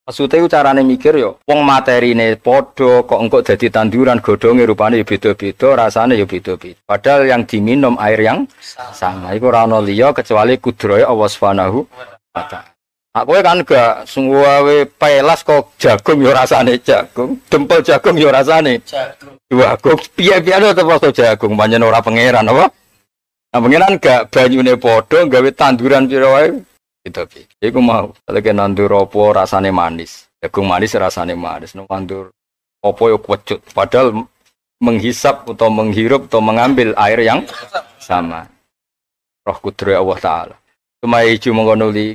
Maksudnya iku carane mikir yo, wong materine padha kok engko dadi tanduran godhonge rupane yo beda-beda, rasane yo beda-beda. Padahal yang diminum air yang sama. Iku ora ono liya kecuali kudrahe Allah Subhanahu wa taala. Aku kan gak sungguh pelas kok jagung yo rasane jagung, dempel jagung yo rasane Jagung. jagung. Piye-piye tetep rasa jagung, pancen ora pangeran apa? Nah, pangeran gak banyune padha gawe tanduran pira wae gitu. Iku mau, kalau kena nandur apa rasane manis, jagung manis rasane manis, nandur apa yo kecut, padahal menghisap atau menghirup atau mengambil air yang sama. Roh kudro Allah Ta'ala. Cuma iju mengkonuli,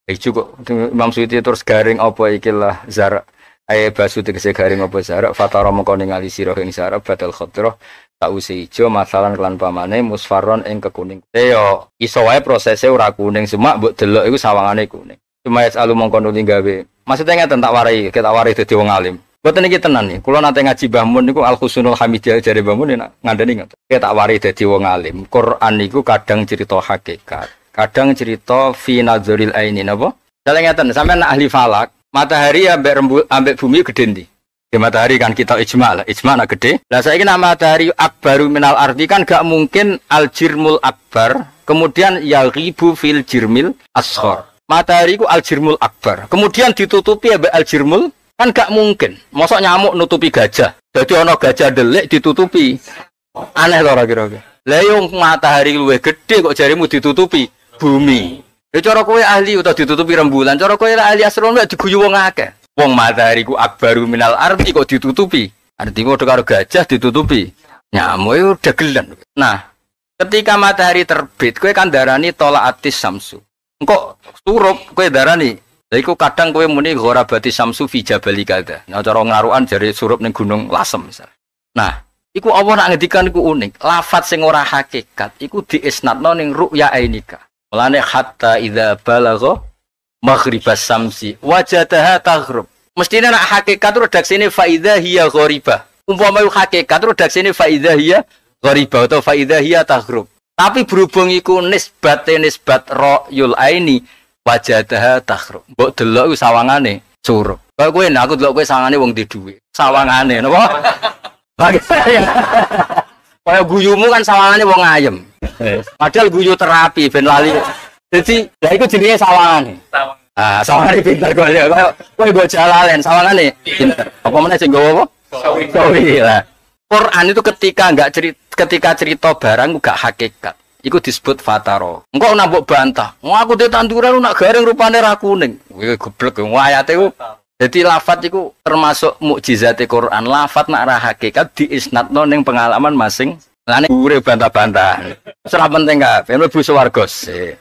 iju kok Imam Suyuti terus garing apa ikilah zara, ae basu tegese garing apa zara, fatara mengko ningali sira ing zara badal khadrah sause ijo masalan kelan pamane musfarron ing kekuning. Yo iso wae prosese ora kuning, cuma mbok delok iku sawangane kuning. Cuma yasalu mongko nuli gawe. Maksudnya ngeten tak warai, kita warai dadi wong alim. Mboten iki tenan nih. Kula nate ngaji Mbah Mun niku Al Husnul Hamidiyah jare Mbah Mun enak ngandani ngoten. Kita tak warai dadi wong alim. Quran niku kadang cerita hakikat, kadang cerita fi nadzuril aini napa? Misale ngeten, sampeyan ahli falak, matahari ambek rembu ambek bumi gede ndi? Di matahari kan kita ijma lah, ijma nak gede. Lah saiki nak matahari akbaru minal ardi kan gak mungkin al jirmul akbar, kemudian yaghibu fil jirmil asghar. Matahari ku al jirmul akbar, kemudian ditutupi ambek al jirmul kan gak mungkin. Mosok nyamuk nutupi gajah. Dadi ana gajah delik ditutupi. Aneh to ora kira-kira. Lah yo matahari luwih gede kok jarimu ditutupi bumi. Ya cara kowe ahli utawa ditutupi rembulan, cara kowe ahli astronomi diguyu wong akeh. Wong matahari ku akbaru minal ardi kok ditutupi. Artinya udah karo gajah ditutupi. Nyamuk itu dagelan. Nah, ketika matahari terbit, kowe kan darani tolaatis samsu. Engko surup kowe darani. Lha iku kadang kowe muni gharabati samsu fi jabali kada. Nah, cara ngarukan jare surup ning Gunung Lasem misal. Nah, iku Allah nak ngendikan iku unik. Lafat sing ora hakikat iku diisnadno ning ru'ya ainika. Mulane hatta idza balagha maghribas samsi wajadaha taghrub. Mestine nak hakikat redaksine faidha hiya gharibah. Umpama iku hakikat redaksine faidha hiya gharibah atau faidha hiya taghrub. Tapi berhubung iku nisbate nisbat ra'yul aini wajadaha taghrub. Mbok delok iku sawangane surup. Kaya kowe nek aku delok kowe sawangane wong di dhuwit. Sawangane napa? Kaya guyumu kan sawangane wong ayem. Padahal guyu terapi ben lali. Jadi, lha iku jenenge sawangane. Ah, sawangane pinter kok ya. Kowe nggo jalalen sawangane pinter. Apa meneh sing nggawa apa? Sawi lah. Quran itu ketika enggak cerita, ketika cerita barang enggak hakikat, iku disebut fataro. Engko nak mbok bantah, "Wah, aku duwe tanduran nak garing rupane ra kuning." Kowe goblok wong ayate iku. Dadi lafat iku termasuk mukjizate Quran. Lafat nak ra hakikat diisnadno ning pengalaman masing. Lane gure bantah-bantah. Wis ora penting kabeh, mlebu swarga sik.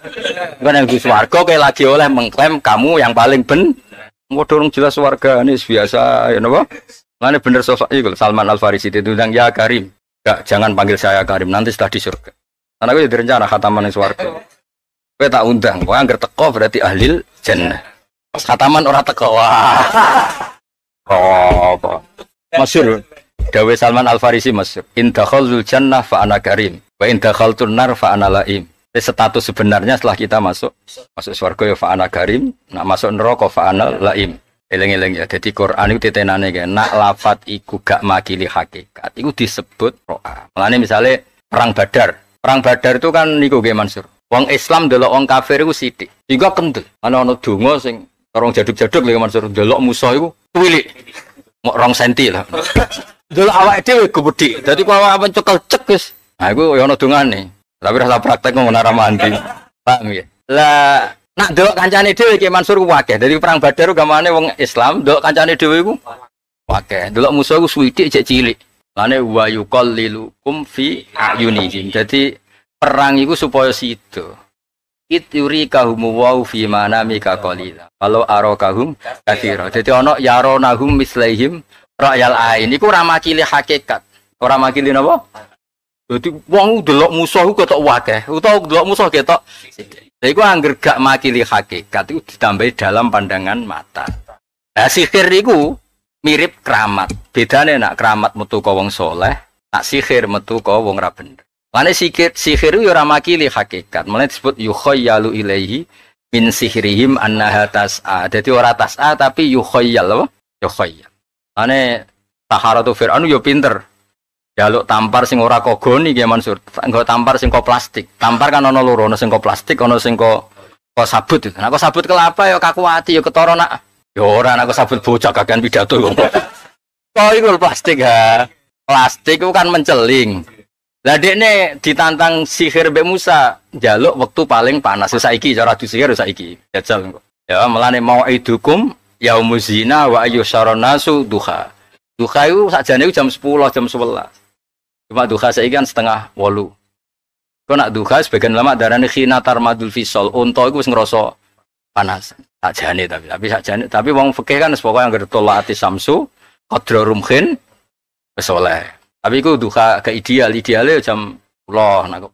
Engko nek mlebu swarga kowe lagi oleh mengklaim kamu yang paling ben. Engko durung jelas swargane biasa ya napa? Lane bener sosok iku Salman Al Farisi diundang ya Karim. Gak, jangan panggil saya Karim nanti setelah di surga. Karena aku jadi rencana khataman ning swarga. Kowe tak undang, kowe angger teko berarti ahlil jannah. Pas khataman ora teko. Wah. Oh, apa? Masyhur. Dawe Salman Al Farisi masyhur. In dakhalul jannah fa ana karim wa in dakhaltun nar fa ana laim. Jadi status sebenarnya setelah kita masuk swarga ya fa ana karim, nak masuk neraka fa ana laim. Eling-eling ya. Jadi Quran iku titenane kae nak lafat iku gak makili hakikat, iku disebut ro'a. Mulane misale perang Badar. Perang Badar itu kan niku nggih Mansur. Wong Islam delok wong kafir iku sithik. Sehingga kendel. Ana ana donga sing rong jaduk-jaduk lho Mansur delok musuh iku tuwilik. Mok 2 senti lah. Delok awake dhewe gedhi. Dadi kok awake cekel cek wis. Nah iku ya ana dongane. Tapi rasa praktek ngono ora mandi. Paham ya? Lah nak delok kancane dhewe Ki Mansur ku akeh. Dadi perang Badar gamane wong Islam delok kancane dhewe iku akeh. Delok musuh iku suwithik jek cilik. Lane wa yuqallilukum fi ayunihim. Dadi perang iku supaya sida. It yurikahum wa fi manamika qalila. Kalau arakahum katsira. Dadi ana yaronahum mislaihim ra'yal ain. Iku ora makili hakikat. Ora makili napa? Dadi wong delok musuh iku ketok akeh, utawa delok musuh ketok sithik. Lha iku angger gak makili hakikat iku ditambahi dalam pandangan mata. Lah sihir iku mirip keramat. Bedane nak keramat metu ka wong soleh, nak sihir metu ka wong ra bener. Lane sihir iku ya ora makili hakikat. Mulane disebut yukhayyalu ilaihi Min sihrihim annaha tas'a. Dadi ora tas'a tapi yukhayyal apa? Yukhayyal. Ane saharatu Fir'aun yo pinter. Jaluk tampar sing ora kogoni Ki Mansur. Nggo tampar sing kok plastik. Tampar kan ana loro, ana sing kok plastik, ana sing kok sabut. Nek kok sabut kelapa ya kaku ati ya ketara nak. Ya ora nek kok sabut bocah kakean pidato kok. Kok iku plastik ha. Plastik itu kan menceling. Lah dekne ditantang sihir mbek Musa, njaluk wektu paling panas. Saiki cara adu sihir saiki. Jajal kok. Ya melane mau'idukum yaumuz zina wa ayyusharon nasu duha. Duha itu sakjane iku jam 10, jam 11. Cuma duha saiki kan 7:30. Kok nak duha sebagian ulama darani khina tarmadul fisol, unta iku wis ngrasa panas. Sakjane tapi sakjane tapi wong fikih kan pokoke anggere tolaati samsu qadra rumhin wis oleh. Tapi iku duha ke ideal, ideale jam 10 nak kok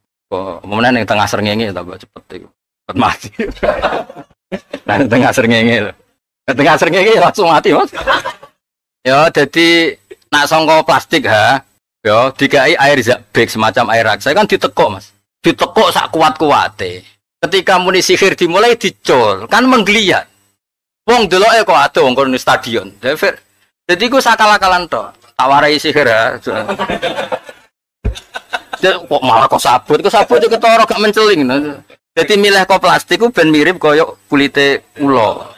umumnya ning tengah srengenge tambah cepet iku. Cepet mati. Nah, ning tengah srengenge lho. Ning tengah srengenge langsung mati, Mas. Ya jadi nak sangka plastik ha. Ya dikai air zabik semacam air raksa kan ditekuk, Mas. Ditekuk sak kuat-kuate. Ketika muni sihir dimulai dicul, kan menggeliat. Wong deloke kok adoh wong kono stadion. Jadi iku sakal-akalan tok. Tak warai sihir ya. Kok malah kok sabut yo ketara gak menceling. Jadi milih kok plastik ku ben mirip koyo kulite ula.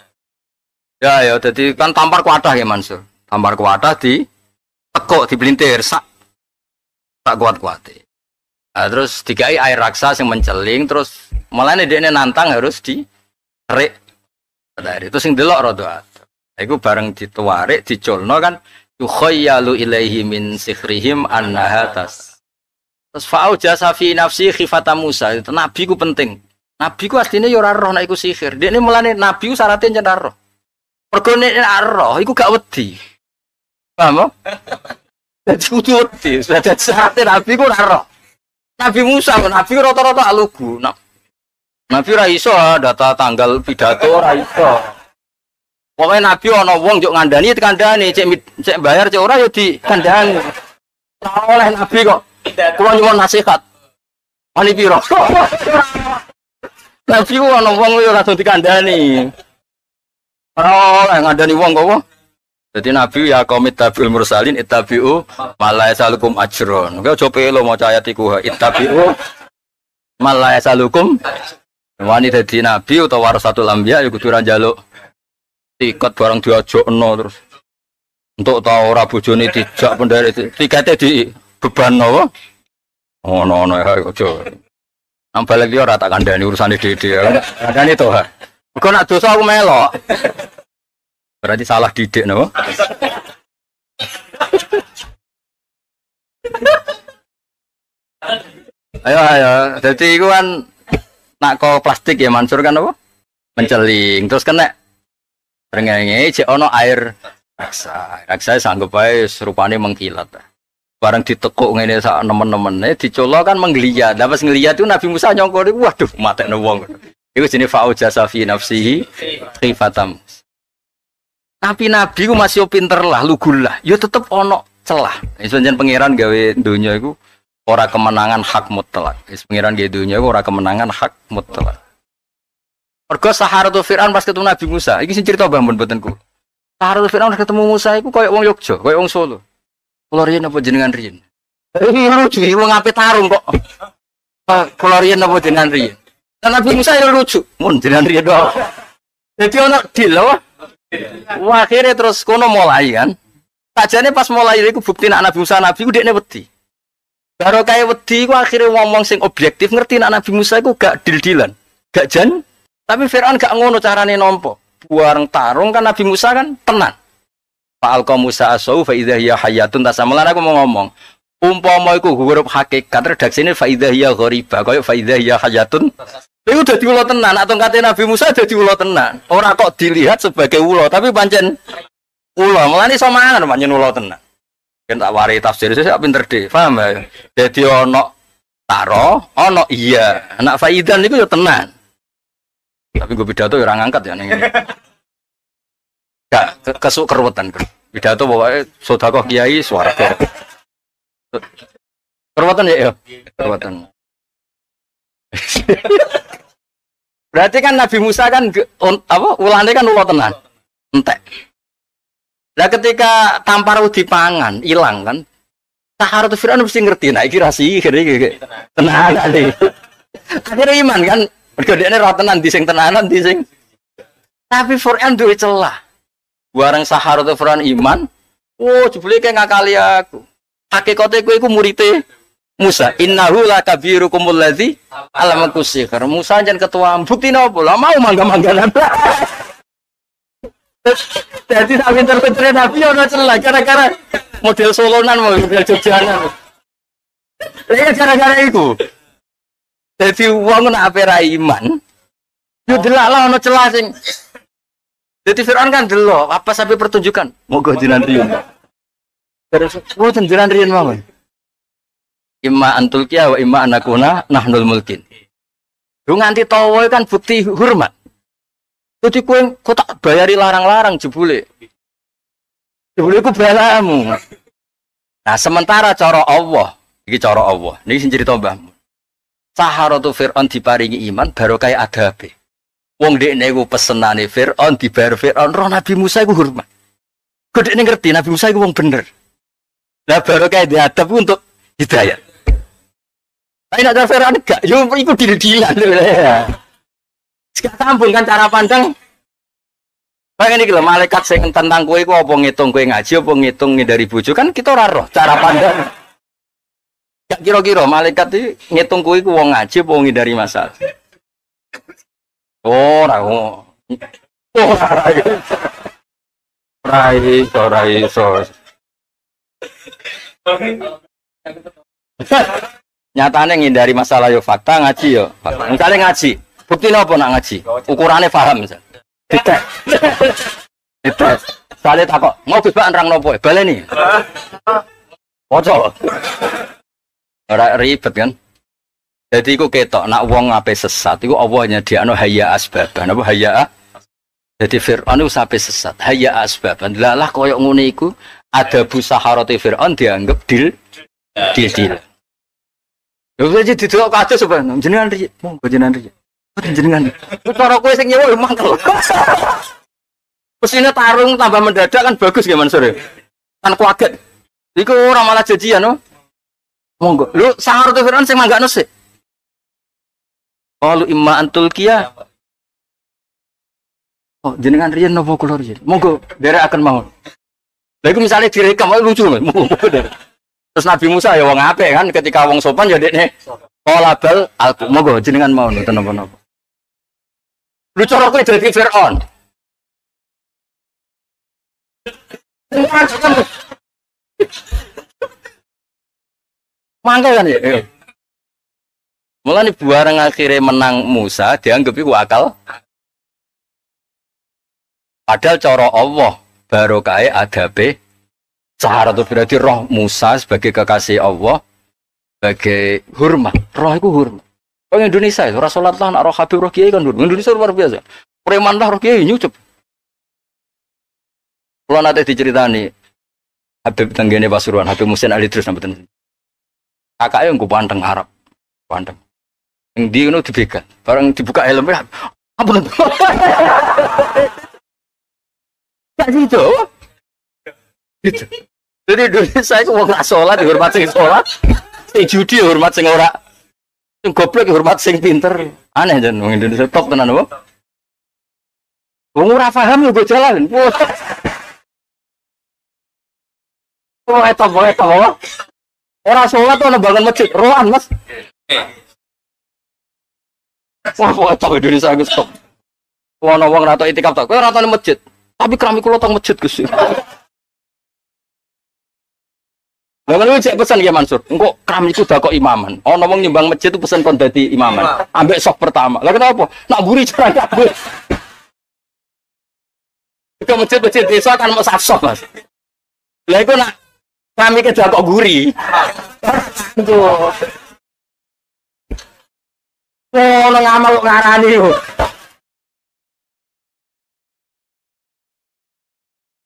Ya ya dadi kan tampar kuatah ya Mansur. Tampar kuatah di tekuk dibelintir sak kuat-kuate. Nah, terus dikai air raksa sing menceling terus mulane dekne nantang harus dikerik. Dari itu sing delok rada adoh. Iku bareng dituwarik diculno kan yukhayyalu ilaihi min sihrihim annaha tas. Terus fa'aujasa fi nafsi khifata Musa. Itu nabi ku penting. Nabi ku asline ya ora roh nek iku sihir. Dekne mulane nabi ku syaratnya yen ora roh. Mergo nek roh iku gak wedi. Paham? Dadi kudu wedi. Dadi syaratnya nabi ku ora roh. Nabi Musa, nabi rata-rata alugu. Nabi ora iso data tanggal pidato ora iso. Pokoknya Nabi ana wong njuk ngandani dikandani, cek bayar cek ora ya dikandani. Ora oleh Nabi kok. Kulo nyuwun nasihat. Wani piro? Nabi ku ana wong ya langsung dikandani. Ora oleh ngandani wong kok. Jadi Nabi ya qaumit tabi'ul mursalin ittabi'u ma la yasalukum ajron. Kowe aja pelo maca ayat iku ittabi'u ma la yasalukum. Wani dadi nabi utawa warasatul anbiya ya kudu ora njaluk tiket barang diajokno terus. Untuk ta ora bojone dijak penderek tikete di beban apa? Ono-ono ya aja. Nang balik iki ora tak kandhani urusane dhewe-dhewe. Kandhani to ha. Mergo nak dosa aku melok. Berarti salah didik napa? Ayo ayo, dadi iku kan nak kok plastik ya Mansur kan apa? Menceling. Terus kena rengenge jek ana air raksa. Raksa sanggup ae rupane mengkilat. Barang ditekuk ngene sak nemen-nemene dicolok kan menggeliat. Lah pas nggeliat itu Nabi Musa nyongko niku waduh matekno wong. Iku jenenge fa'ujasa fi nafsihi khifatam. Tapi Nabi ku masih pinter lah, lugu lah. Ya tetep ono celah. Wis pancen pangeran gawe donya iku ora kemenangan hak mutlak. Wis pangeran gawe donya iku ora kemenangan hak mutlak. Mergo saharatu Fir'aun pas ketemu Nabi Musa, iki sing cerita Mbah Mun mboten ku. Saharatu Fir'aun pas ketemu Musa iku koyo wong Yogya, koyo wong Solo. Kula riyen apa jenengan riyen? Lucu, wong ape tarung kok. Kula riyen apa jenengan riyen? Lah Nabi Musa ya lucu, mun jenengan riyen kok. Dadi ono deal lho. Wah, akhirnya terus kono mulai kan. Sajane pas mulai iku bukti nek Nabi Musa nabi ku dekne wedi. Baru kaya wedi iku akhirnya ngomong sing objektif ngerti nek Nabi Musa iku gak deal-dealan, gak jan. Tapi Fir'aun gak ngono carane nampa. Bareng tarung kan Nabi Musa kan tenan. Fa'alqa Musa asau fa idza hiya hayyatun tasamalan aku mau ngomong. Umpama iku huruf hakikat redaksine fa idza hiya ghariba kaya fa idza hiya hayyatun. Iku dadi ula tenan, atau kate Nabi Musa dadi ula tenan. Ora kok dilihat sebagai ula, tapi pancen ula. Mulane iso mangan pancen ula tenan. Kan tak warai tafsir saya pinter deh, paham ya? Dadi ana taro, ana iya. Anak faidan niku ya tenan. Tapi gue pidato ya ora ngangkat ya ning ngene. Gak kesuk keruwetan. Pidato pokoke sedekah kiai swarga. Keruwetan ya ya. Keruwetan. Berarti kan Nabi Musa kan apa ulane kan ulo tenan. Entek. Lah ketika tampar dipangan, ilang kan. Saharatu Fir'aun mesti ngerti, nah iki ra sihir iki. Tenanan iki. Akhirnya iman kan. Mergo dekne ra tenan di sing tenanan di sing. Tapi Fir'aun duwe celah. Bareng Saharatu Fir'aun iman, oh jebule kayak ngakali aku. Hakikate kowe iku murite Musa. Innahu lakabirukumul ladzi 'allamakum sihr. Musa jan ketua bukti napa? Lah mau mangga-mangganan. Jadi tak pinter-pinternya Nabi ono celah gara-gara model Solonan model Jogjanan. Lha gara-gara iku. Dadi wong nek ape ra iman, yo delak lah ono celah sing. Dadi Fir'aun kan delok apa sampai pertunjukan. Monggo jenengan riyen. Terus mboten jenengan riyen mawon. Imma antulkiya wa imma anakuna nahnul mulkin. Lu nganti tawa kan bukti hormat. Jadi kowe kok tak bayari larang-larang jebule. Jebule ku belamu. Nah, sementara cara Allah, iki cara Allah. Niki sing cerita Mbah. Saharatu Fir'aun diparingi iman barokah adabe. Wong dekne iku pesenane Fir'aun dibayar Fir'aun, roh Nabi Musa iku hormat. Kok dekne ngerti Nabi Musa iku wong bener. Lah barokah diadab untuk hidayah. Tapi nek Fir'aun gak, yo iku dil-dilan lho ya. Sekarang sambung kan cara pandang. Kayak ini kalau malaikat sing tentang kowe iku apa ngitung kowe ngaji apa ngitung ngindari bojo kan kita ora roh cara pandang. Gak kira-kira malaikat iki ngitung kowe iku wong ngaji apa ngindari masalah. Ora oh. Ora ora iso ora iso. Nyatane ngindari masalah yo fakta ngaji yo fakta. Misale ngaji, bukti napa nak ngaji? Ukurane paham misal. Dites. Dites. Sale takok, mau bebak nerang nopo? Baleni. Ojo. Ora ribet kan? Jadi iku ketok nak wong ape sesat iku Allah nyediakno hayya asbaban. Apa hayya? Jadi Fir'aun iku sampe sesat, hayya asbaban. Lah koyo ngene iku adabu saharati Fir'aun dianggap dil dil. Lha wis didelok kados sampeyan jenengan riyen, monggo jenengan riyen. Jenengan. Cara kowe sing nyewa yo mangkel. Mesine tarung tambah mendadak kan bagus ya Mansur. Kan kaget. Iku ora malah janjian no. Monggo. Lho saharatu Fir'aun sing manggakno sik. Qalu imma antulkiya. Oh, jenengan riyen napa kula riyen? Monggo nderekaken mawon. Lha iku misale direkam lucu Mas. Monggo. Terus Nabi Musa ya wong apik kan ketika wong sopan ya dekne qala bal alqu. Monggo jenengan mawon mboten napa-napa. Lu cara kowe dadi Fir'aun. Mangkel kan ya. Mulane bareng akhire menang Musa dianggap iku akal. Padahal cara Allah barokahe adabe saharatu berarti roh Musa sebagai kekasih Allah sebagai hormat. Roh iku hormat. Wong Indonesia ora salat lah nak roh Habib roh kiai kan hormat. Indonesia luar biasa. Preman lah roh kiai nyucup. Kulo nate diceritani Habib tenggene Pasuruan, Habib Muhsin Ali Idrus mboten. Kakake nggo panteng Arab. Panteng. Ning ndi ngono dibegal. Bareng dibuka helme, ampun. Gak gitu. Gitu. Jadi Indonesia iku wong ra salat dihormat sing salat, sing judi hormat sing ora. Sing goblok hormat sing pinter. Aneh jan wong Indonesia top tenan apa? Wong ora paham yo go jalan. Oh, eta wae ta. Ora salat ono bangun masjid, roan Mas. Wah, kok top Indonesia iku stop. Ono wong ra tok itikaf tok, kowe ora tau nang masjid. Tapi kerami kula teng masjid Gus. Lah kan cek pesan ya Mansur, engko kram iku dak kok imaman. Ana wong nyumbang masjid itu pesan kon dadi imaman. Ambek sok pertama. Lah kenapa? Nak mburi cara kabeh. Ke masjid-masjid desa kan mau sak sok, Mas. Lah iku nak kami kedak kok guri. Tuh. Oh, nang ngamal kok ngarani yo.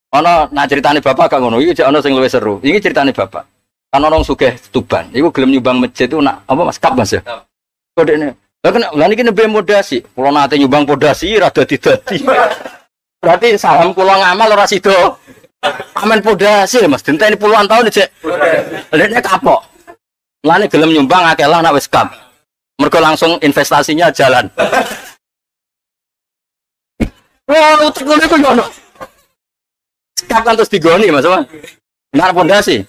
Ana nak ceritane bapak gak ngono, iki jek ana sing luwih seru. Iki ceritane bapak. Kan ana wong sugih Tuban, iku gelem nyumbang masjid itu nak apa Mas kap Mas ya. Kok dekne Lah kan lha niki nembe modasi. Kula nate nyumbang podasi ora dadi-dadi. Berarti saham kula ngamal ora sida. Amen podasi Mas, denteni puluhan tahun jek. Lha kapok. Mulane gelem nyumbang akeh lah nek wis kap. Mergo langsung investasinya jalan. Wah, utek ngono iku yo ono. Kap kan terus digoni Mas apa? Nek pondasi.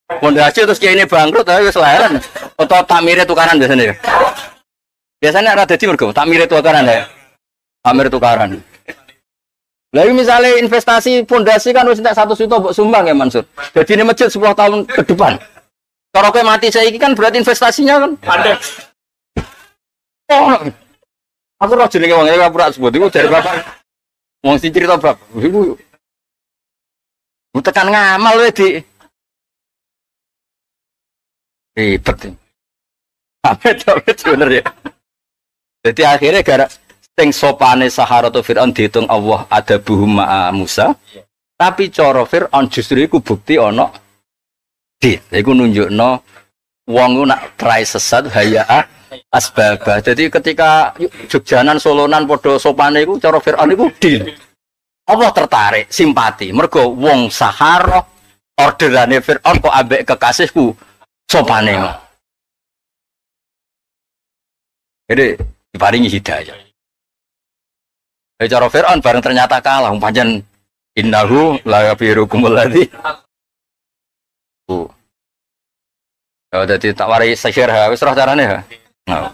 Pondasi terus kiai ini bangkrut tapi wis leren. Atau takmire tukaran biasanya ya. Biasanya ora dadi mergo takmire tukaran ya. Takmir tukaran. Lah misalnya investasi pondasi kan wis entek 1 juta mbok sumbang ya Mansur. Jadi ini masjid 10 tahun ke depan. Cara kowe mati saiki kan berarti investasinya kan ada. Oh. Aku roh jenenge wong iki ora sebut iku jare bapak. Wong sing cerita bab iku tekan ngamal wae di ribet. Amit bener ya. Jadi akhirnya gara sing sopane saharatu Fir'aun dihitung Allah ada buhum ma'a Musa. Tapi cara Fir'aun justru iku bukti ana di. Iku nunjukno wong ku nak try sesat hayaa asbabah. Jadi ketika Jogjanan Solonan padha sopane iku cara Fir'aun iku deal. Allah tertarik, simpati. Mergo wong sahara orderane Fir'aun kok ambek kekasihku sopane. Jadi diparingi hidayah. Cara Fir'aun bareng ternyata kalah, pancen innahu la yabirukumul ladzi. Ya dadi tak warai sihir ha, wis roh carane ha. Nah.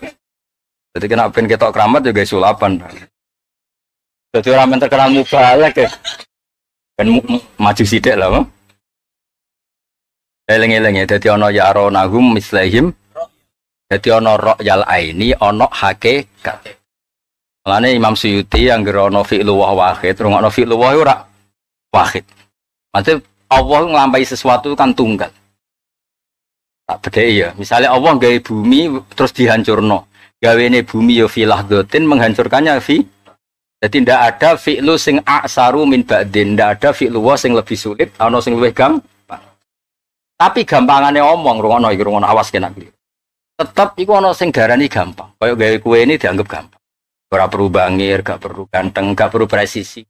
Jadi kena ben ketok keramat juga sulapan. Dadi ora men terkenal mubalek ya. Ben maju sithik lah. Eling-eling ya dadi ana yaronahum mislihim. Dadi ana ra'yal aini ana hakikat. Mulane Imam Suyuti yang ngerono fi'lu wa wahid, rungokno fi'lu wa ora wahid. Maksudnya Allah nglampahi sesuatu kan tunggal. Tak bedheki ya. Misalnya Allah gawe bumi terus dihancurno. Gawene bumi ya fi lahdhatin menghancurkannya fi. Jadi ndak ada fi'lu sing aksaru min ba'din, ndak ada fi'lu wa sing lebih sulit, ana sing luwih gampang. Tapi gampangane omong rungokno iki rungokno awas kena iki. Tetep iku ana sing darani gampang. Kaya gawe kue ini dianggap gampang. Ora perlu bangir, gak perlu ganteng, gak perlu presisi.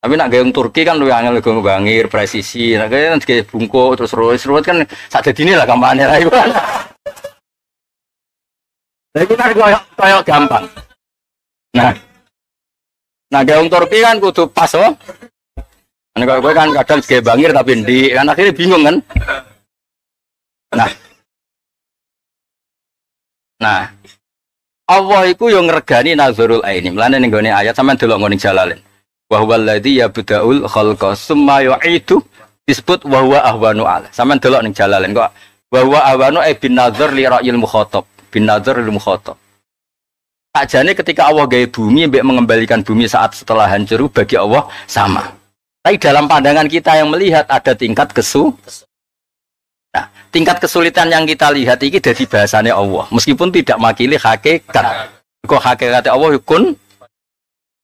Tapi nak gawe Turki kan luwih angel gawe bangir, presisi. Nek gawe gawe bungkuk terus ruwet kan sak dadine lah gampangane lah iku. Lah iku kan koyo gampang. Nah, gawe Turki kan kudu pas oh. Nek kowe kan kadang gawe bangir tapi ndik, kan akhirnya bingung kan. Nah, Allah iku yo ngregani nazarul aini. Mulane ning gone ayat sampean delok ngene Jalalain. Wa huwal ladzi yabda'ul khalqa summa yu'idu disebut wa huwa ahwanu ala. Sampean delok ning Jalalain kok wa huwa ahwanu ay bin nazar li ra'yil mukhatab, bin nazar lil mukhatab. Sakjane ketika Allah gawe bumi mbek mengembalikan bumi saat setelah hancur bagi Allah sama. Tapi dalam pandangan kita yang melihat ada tingkat Nah, tingkat kesulitan yang kita lihat ini dari bahasanya Allah, meskipun tidak makili hakikat. Kok hakikate Allah kun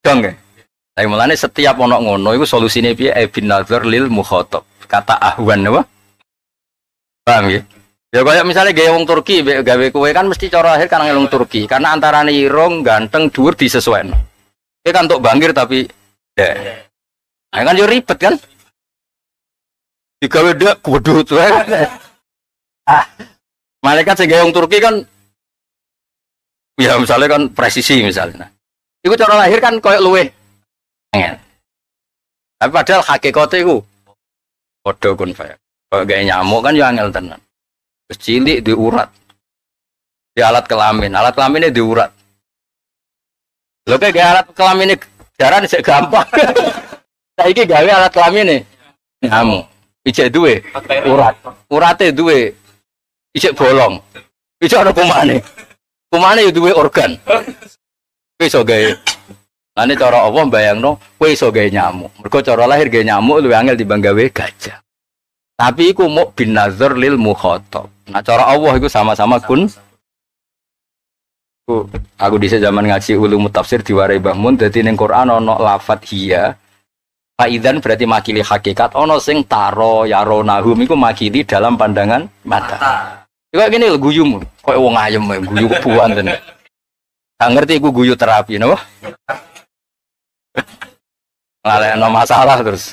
dong ya. Tapi mulane setiap ono ngono iku solusine piye bin nazar lil mukhatab. Kata ahwan apa? Paham ya? Ya kayak misalnya gawe wong Turki gawe kowe kan mesti cara akhir kan wong Turki karena antarane irung ganteng dhuwur disesuaikno. Kowe kan untuk bangir tapi ya. Nah, kan yo ribet kan? Digawe ndak kudu tuh. Ah. Malaikat sing gawe wong Turki kan ya misalnya kan presisi misalnya. Nah, iku cara lahir kan koyo luweh angel. Tapi padahal hakikate iku padha kun faya. Koyo gawe nyamuk kan yo angel tenan. Terus cilik diurat. Di alat kelamin, alat kelaminnya diurat. Lho kayak gawe alat kelamine jaran sik gampang. Saiki gawe alat kelamine nyamuk. Ijek duwe urat. Urate duwe ijek bolong. Ijek ana kumane. Kumane yo duwe organ. Kowe iso gawe. Lane cara Allah mbayangno kowe iso gawe nyamuk. Mergo cara lahir gawe nyamuk luwih angel timbang gawe gajah. Tapi iku muk bin nazar lil mukhatab. Nah cara Allah iku sama-sama kun. Aku dhisik zaman ngaji ulum tafsir diwarai Mbah Mun dadi ning Quran ana lafat hiya. Faidan berarti makili hakikat ana sing taro yaronahum iku makili dalam pandangan mata. Iku gini lho guyumu, koyo wong ayem guyu kebuan tenan. Gak ngerti iku guyu terapi napa? Ngalehno masalah terus.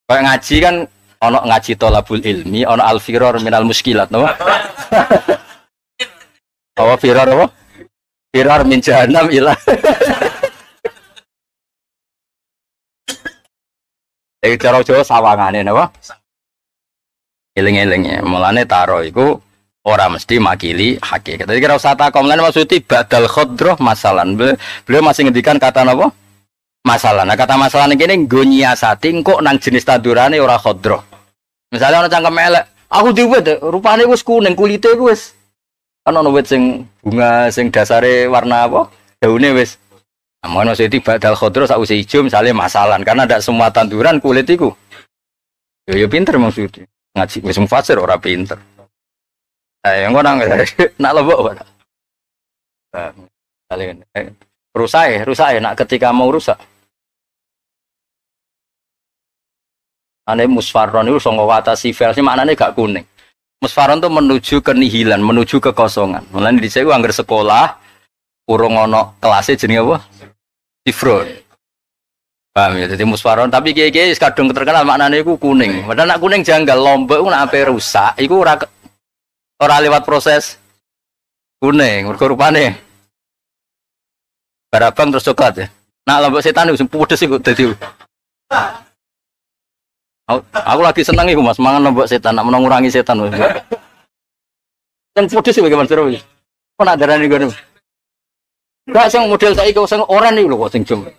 Kayak ngaji kan ono ngaji tolabul ilmi, ono al-firar minal muskilat napa? Apa firar apa? Firar min jahannam ila. Iki cara Jawa sawangane napa? Eling-eling ya, mulane taro iku ora mesti makili hakikat. Jadi kira usah takon lan maksudnya badal khadroh masalan. Beliau masih ngendikan kata napa? Masalah. Nah kata masalah ini nggo nyiasati engko nang jenis tandurane ora khadroh. Misalnya ana cangkem elek, aku diwet rupane wis kuning, kulite iku wis kan ana wit sing bunga sing dasare warna apa? Daune wis. Nah, maksudnya badal khadroh sakwise ijo misalnya masalan karena ndak semua tanduran kulit iku. Ya ya pinter maksudnya. Ngaji wis mufasir ora pinter. Engko nang nak lebok ora. Kalian rusak nak ketika mau rusak. Ane musfarron itu songo watasi versi maknanya gak kuning. Musfarron itu menuju kenihilan, menuju kekosongan. Mulane dhisik ku angger sekolah urung ana kelase jenenge apa? Sifron. Paham ya? Jadi musfarron tapi kiai-kiai kadung terkenal maknane iku kuning. Padahal nak kuning janggal lombok iku nak ape rusak iku ora lewat proses kuning, mergo rupane barabang terus coklat ya. Nak lombok setan iku pedes iku dadi. Aku lagi seneng iku Mas, mangan lombok setan, nak mengurangi setan. Sing pedes iku bagaimana seru. Kok nak darani ngono. Gak sing model saiki sing oren iku lho kok sing jembleng.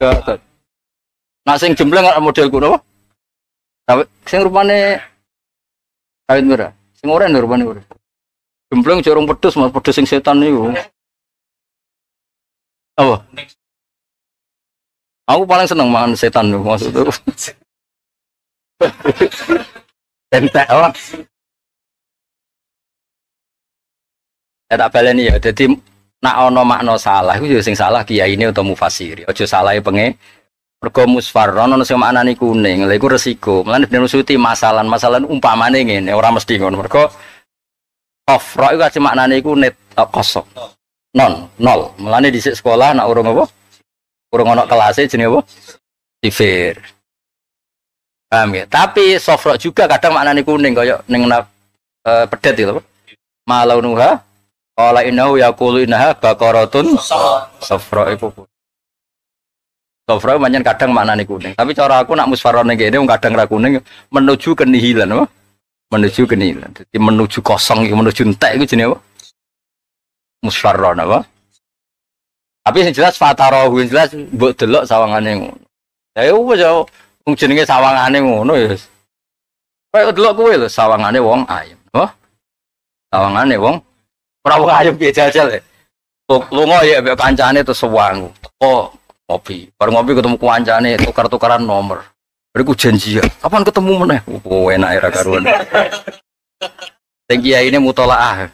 Gak. Nak sing jembleng kok model kuno apa? Tapi sing rupane kawit merah. Sing oren lho rupane ora. Jembleng jorong pedes Mas, pedes sing setan niku. Apa? Aku paling seneng mangan setan lho maksudku. Entek apa? Ya tak baleni ya. Dadi nak ana makna salah iku ya sing salah kiyaine utawa mufasiri. Aja salahe penge. Mergo musfarron ana sing maknane kuning. Lha iku resiko. Mulane Ben Suti masalan-masalan umpamane ngene, ora mesti ngono. Mergo kofra iku aja maknane iku net kosong. Non, nol. Mulane dhisik sekolah nak urung apa? Urung ana kelase jenenge apa? Sifir. Paham ya? Tapi sofro juga kadang maknane kuning kaya ning pedet itu apa? Malaunuha qala innahu yaqulu innaha baqaratun sofro iku. Sofro pancen kadang maknane kuning. Tapi cara aku nak musfarone kene wong kadang ra kuning menuju kenihilan apa? Menuju kenihilan. Dadi menuju kosong iku menuju entek iku jenenge apa? Musfarron apa? Tapi sing jelas fatarahu sing jelas mbok delok sawangane ngono. Ya wis ya wong jenenge sawangane ngono ya wis. Kaya delok kowe lho sawangane wong ayem. Oh. Sawangane wong ora wong ayem piye jajal. Lunga ya mbek kancane terus sewangu. Teko ngopi. Bar ngopi ketemu kancane tukar-tukaran nomor. Bariku janjian. Kapan ketemu meneh? Oh enak era karuan. Sing kiai ini mutolaah.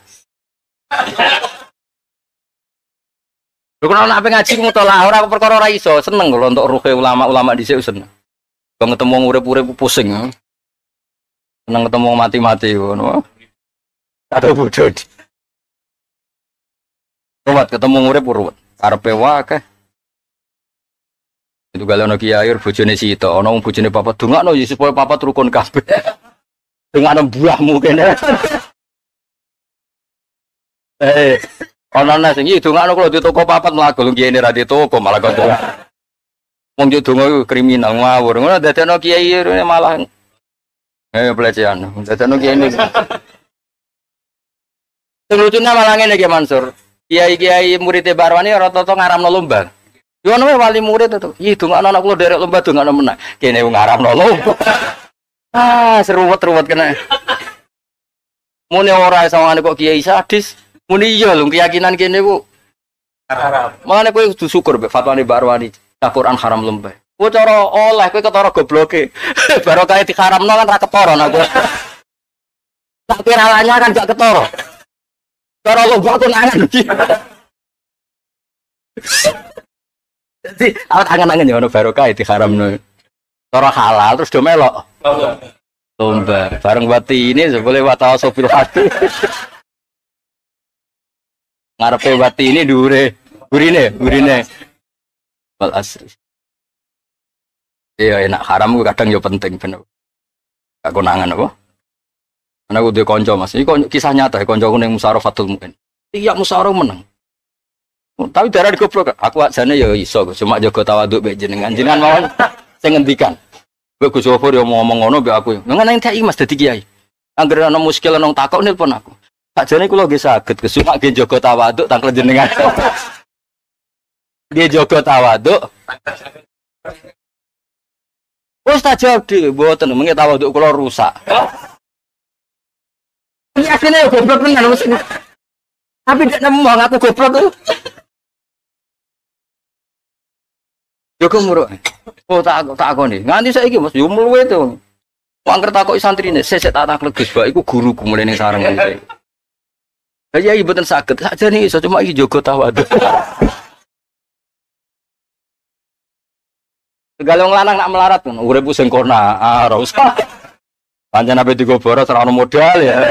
Lho kena nek ngaji mutolaah ora perkara ora iso, seneng lho untuk ruhe ulama-ulama dhisik seneng. Kok ketemu wong urip-urip pusing. Seneng ketemu wong mati-mati ngono. Atau bodoh. Ruwet ketemu urip ruwet. Karepe wae. Itu gale ana kiai bojone sito, ana wong bojone papat dongakno ya supaya papat rukun kabeh. Dongakno buahmu kene. Ana nang sing iki dongakno kula di toko papat mlaku lho kiai ra di toko malah kok. Wong yo donga iku kriminal ngawur. Ngono dadekno kiai malah pelecehan. Dadekno kiai ini. Sing lucune malah ngene iki Mansur. Kiai-kiai murid Barwani rata-rata ngaramno lomba. Yo ono wali murid itu. Ih dongakno anak kula derek lomba dongakno menang. Kene wong ngaramno lomba. Ah, seruwet-ruwet kena. Mune ora sawangane kok kiai sadis. Muni iya lho keyakinan kene ku haram. Makane kowe kudu syukur mbek fatwane Barwani. Quran haram lomba. Kowe cara oleh kowe ketara gobloke. Barokah diharamno kan ra ketara nek kowe. Tak kira kan gak ketara. Cara lomba aku nangan iki. Jadi awet angen-angen ya ono barokah diharamno. Cara halal terus do melok. Lomba. Bareng wati ini boleh watawasobil hati. Ngarepe wati ini dhuwure gurine, gurine. Wal asri. Iya enak haram ku kadang yo penting bener. Gak konangan apa? Ana aku duwe kanca Mas. Iki kisah nyata kancaku ning Musyawarah Fathul Muin. Tiap musyawarah menang. Tapi darah goblok. Aku ajane ya iso, cuma jaga tawaduk mbek jenengan. Jenengan mawon sing ngendikan. Mbek Gus Gofur yo ngomong ngono mbek aku. Nang nang TI Mas dadi kiai. Angger ana muskil ana takok nelpon aku. Sakjane kula nggih saged, Gus, cuma nggih jaga tawaduk tangkel jenengan. Nggih jaga tawaduk. Wis tak jawab dhewe, mboten mengke tawaduk kula rusak. Ini asline goblok tenan mesti. Tapi ndak nemu aku goblok tuh. Joko muruk. Oh tak akoni. Nganti saiki Mas yo mluwe to. Angger takoki santrine, sesek tak taklek Gus Bak iku guruku mulai ning sareng iki. Lah iya mboten saged. Sakjane iso cuma iki jaga tawadhu. Segala wong lanang nak melarat kan uripku sing kona, ah ora usah. Pancen ape digo boros ora ono modal ya.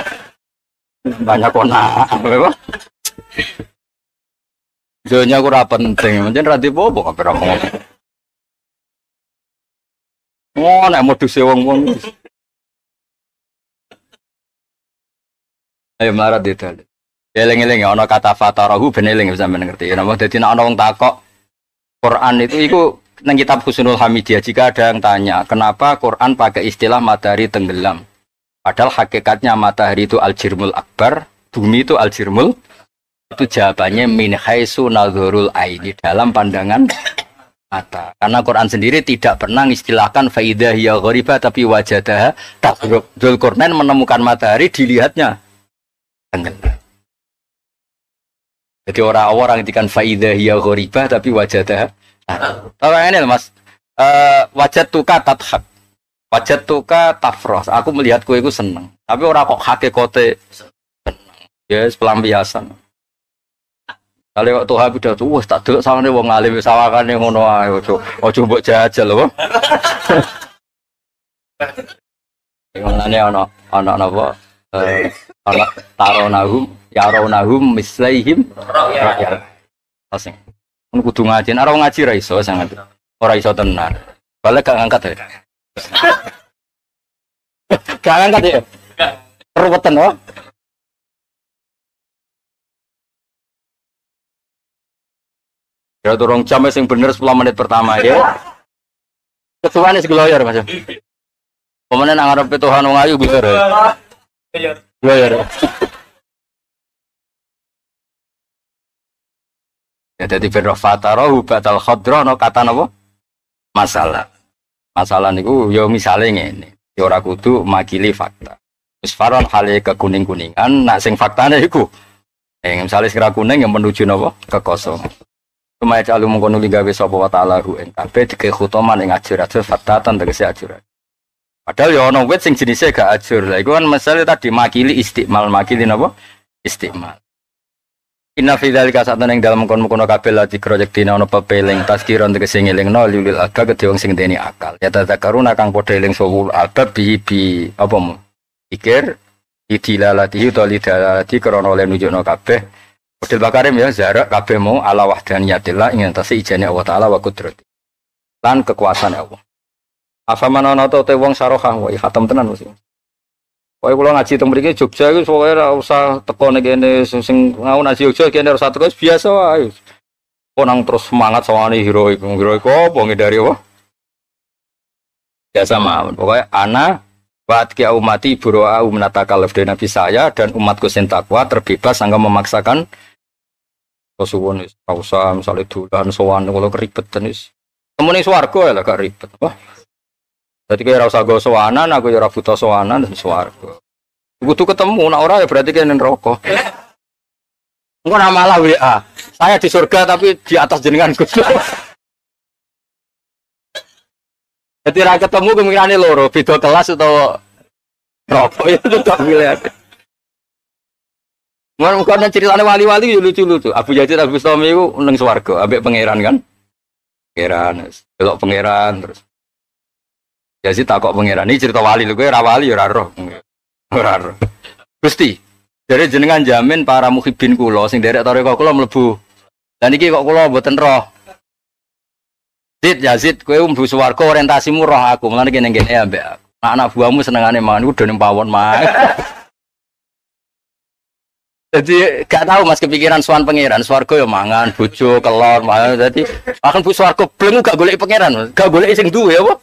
Banyak kona, apa? Dunya ku ora penting, pancen ra dipopo kabeh ora ngomong. Oh, nek moduse wong-wong. Ayo melarat didal. Eling-eling ana kata fatarahu ben eling sampeyan ngerti. Napa dadi nek ana wong takok Quran itu iku nang kitab Husnul Hamidiyah jika ada yang tanya, kenapa Quran pakai istilah matahari tenggelam? Padahal hakikatnya matahari itu al-jirmul akbar, bumi itu al-jirmul. Itu jawabannya min haitsu nadhurul aini, dalam pandangan mata. Karena Quran sendiri tidak pernah mengistilahkan faidah hiya ghoribah tapi wajadaha taghrub. Dzulqarnain menemukan matahari dilihatnya tenggelam. Jadi orang-orang ngendikan faidah hiya ghoribah tapi wajadaha. Tahu ini Mas, wajadtuka tadhak, wajadtuka tafroh. Aku melihat kowe iku seneng. Tapi ora kok hakikate seneng. Ya yes, pelampiasan. Kali kok Tuhan pidato, wis tak delok sawangane wong alim sawangane ngono ae aja aja mbok jajal apa. Ngene ana ana napa? Ana taronahum yaronahum mislaihim ra'yal. Asing. Mun kudu ngaji, ora ngaji ra iso sangat. Ora iso tenan. Balik gak ngangkat ya. Gak ngangkat ya. Ruweten oh. Ya turung jam sing bener 10 menit pertama ya. Ketuane sing gloyor Mas. Pemene nang ngarepe Tuhan wong ayu gloyor. Gloyor. Ya dadi ben fatarahu batal khadra no kata napa? Masalah. Masalah niku ya misale ngene. Ya ora kudu makili fakta. Wis faron hale kekuning-kuningan, nak sing faktane iku misale sing ra kuning yang menuju napa? Kekosongan. Sumaya calu mengkono gawe sapa wa ta'ala hu ing kabeh dike khutoman ing ajur-ajur fatatan tegese ajur. Padahal ya ana wit sing jenise gak ajur. Lah iku kan masalah tadi makili istimal, makili napa? Istimal. Inna fi dzalika sa'atan ing dalem mengkono-mengkono kabeh la dikro yektine ana pepeling tazkiron tegese ngelingno lil albab kedhe wong sing ndeni akal. Ya tadzakaruna kang padha eling sapa albab bi bi apa mu? Pikir idilalatihi utawa lidalalati krana oleh nunjukno kabeh. Model bakarim ya zarak kabeh mau ala wahdaniyatillah ing antase ijane Allah taala wa qudrati. Lan kekuasaan Allah. Afaman ana ta te wong sarohah wa khatam tenan mesti. Pokoke kula ngaji teng mriki Jogja iku pokoke ora usah teko ning kene sing ngau ngaji Jogja kene ora usah teko biasa wae. Kok nang terus semangat sawane heroik. Heroik apa ngindari apa? Biasa mawon. Pokoke ana wa atqiya ummati buraa minatakaluf Nabi saya dan umatku sing takwa terbebas sangka memaksakan suwun wis ora usah misale dolan sowan kula keribetan wis. Temune swarga ya gak ribet apa. Dadi kowe ora usah go sowanan, aku ya ora buta sowanan dan swarga. Kudu ketemu nek ora ya berarti kene neraka. Engko nak malah WA. Saya di surga tapi di atas jenengan Gus. Jadi ra ketemu kemungkinane loro, beda kelas utawa neraka ya tetep pilihan. Mun karena ceritane wali-wali yo lucu-lucu. Abu Yazid Al Bustami iku ning swarga ambek pangeran kan. Pangeran, delok pangeran terus. Yazid takok pangeran, ini cerita wali lho kowe ora wali ora roh. Ora roh. Gusti, Jadi jenengan jamin para muhibin kula sing derek tarekah kula mlebu. Lah niki kok kula mboten roh. Zid ya Zid, kowe mlebu swarga orientasimu roh aku, mulane kene kene ambek aku. Anak buahmu senengane mangan udah ning pawon mah. Jadi gak tahu Mas kepikiran sowan pangeran, swarga ya mangan, bojo, kelon, mangan. Dadi bahkan bu swarga bleng gak golek pangeran, gak golek sing duwe apa?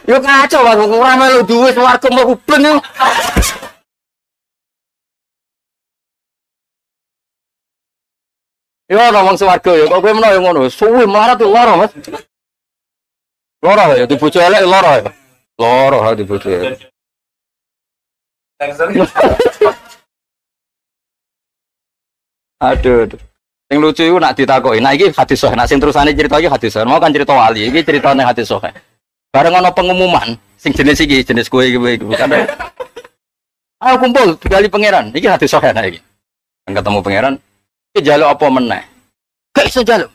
Yo kacau Mas, ora melu duwe swarga mlebu bleng. Yo ana wong swarga ya, kok kowe menawa yo ngono, suwi melarat yo lara, Mas. Lara ya, di bojo elek lara ya. Lara ha di bojo elek. Aduh, aduh. Sing lucu iku nak ditakoki. Nah iki hadis sahih, nah sing terusane cerita iki hadis sahih. Mau kan cerita wali, iki ceritane hadis sahih. Bareng ana pengumuman sing jenis iki, jenis kowe iki bukan. Ayo kumpul digali pangeran. Iki hadis sahih nah iki. Ketemu pangeran, iki njaluk apa meneh? Gak iso njaluk.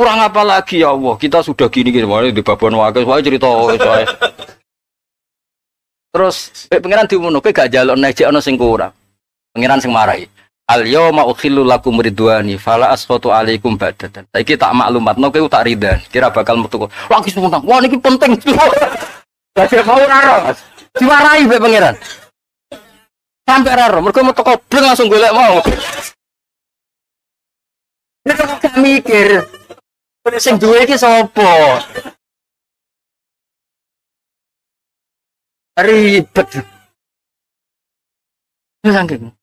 Kurang apa lagi ya Allah, kita sudah gini-gini, wah di babon wae, wae cerita wae. Terus pangeran diumuno, kowe gak njaluk nek jek ana sing kurang. Pangeran sing marahi. Al yauma ukhillu lakum ridwani fala askhatu alaikum ba'datan. Saiki tak maklumatno kowe tak ridani, kira bakal metu. Lagi seneng. Wah niki penting. Dadi mau ora ro, Mas. Diwarahi mbek pangeran. Sampai ora ro, mergo metu kobleng langsung golek mau. Nek gak mikir. Sing duwe iki sapa? Ribet. Ya saking.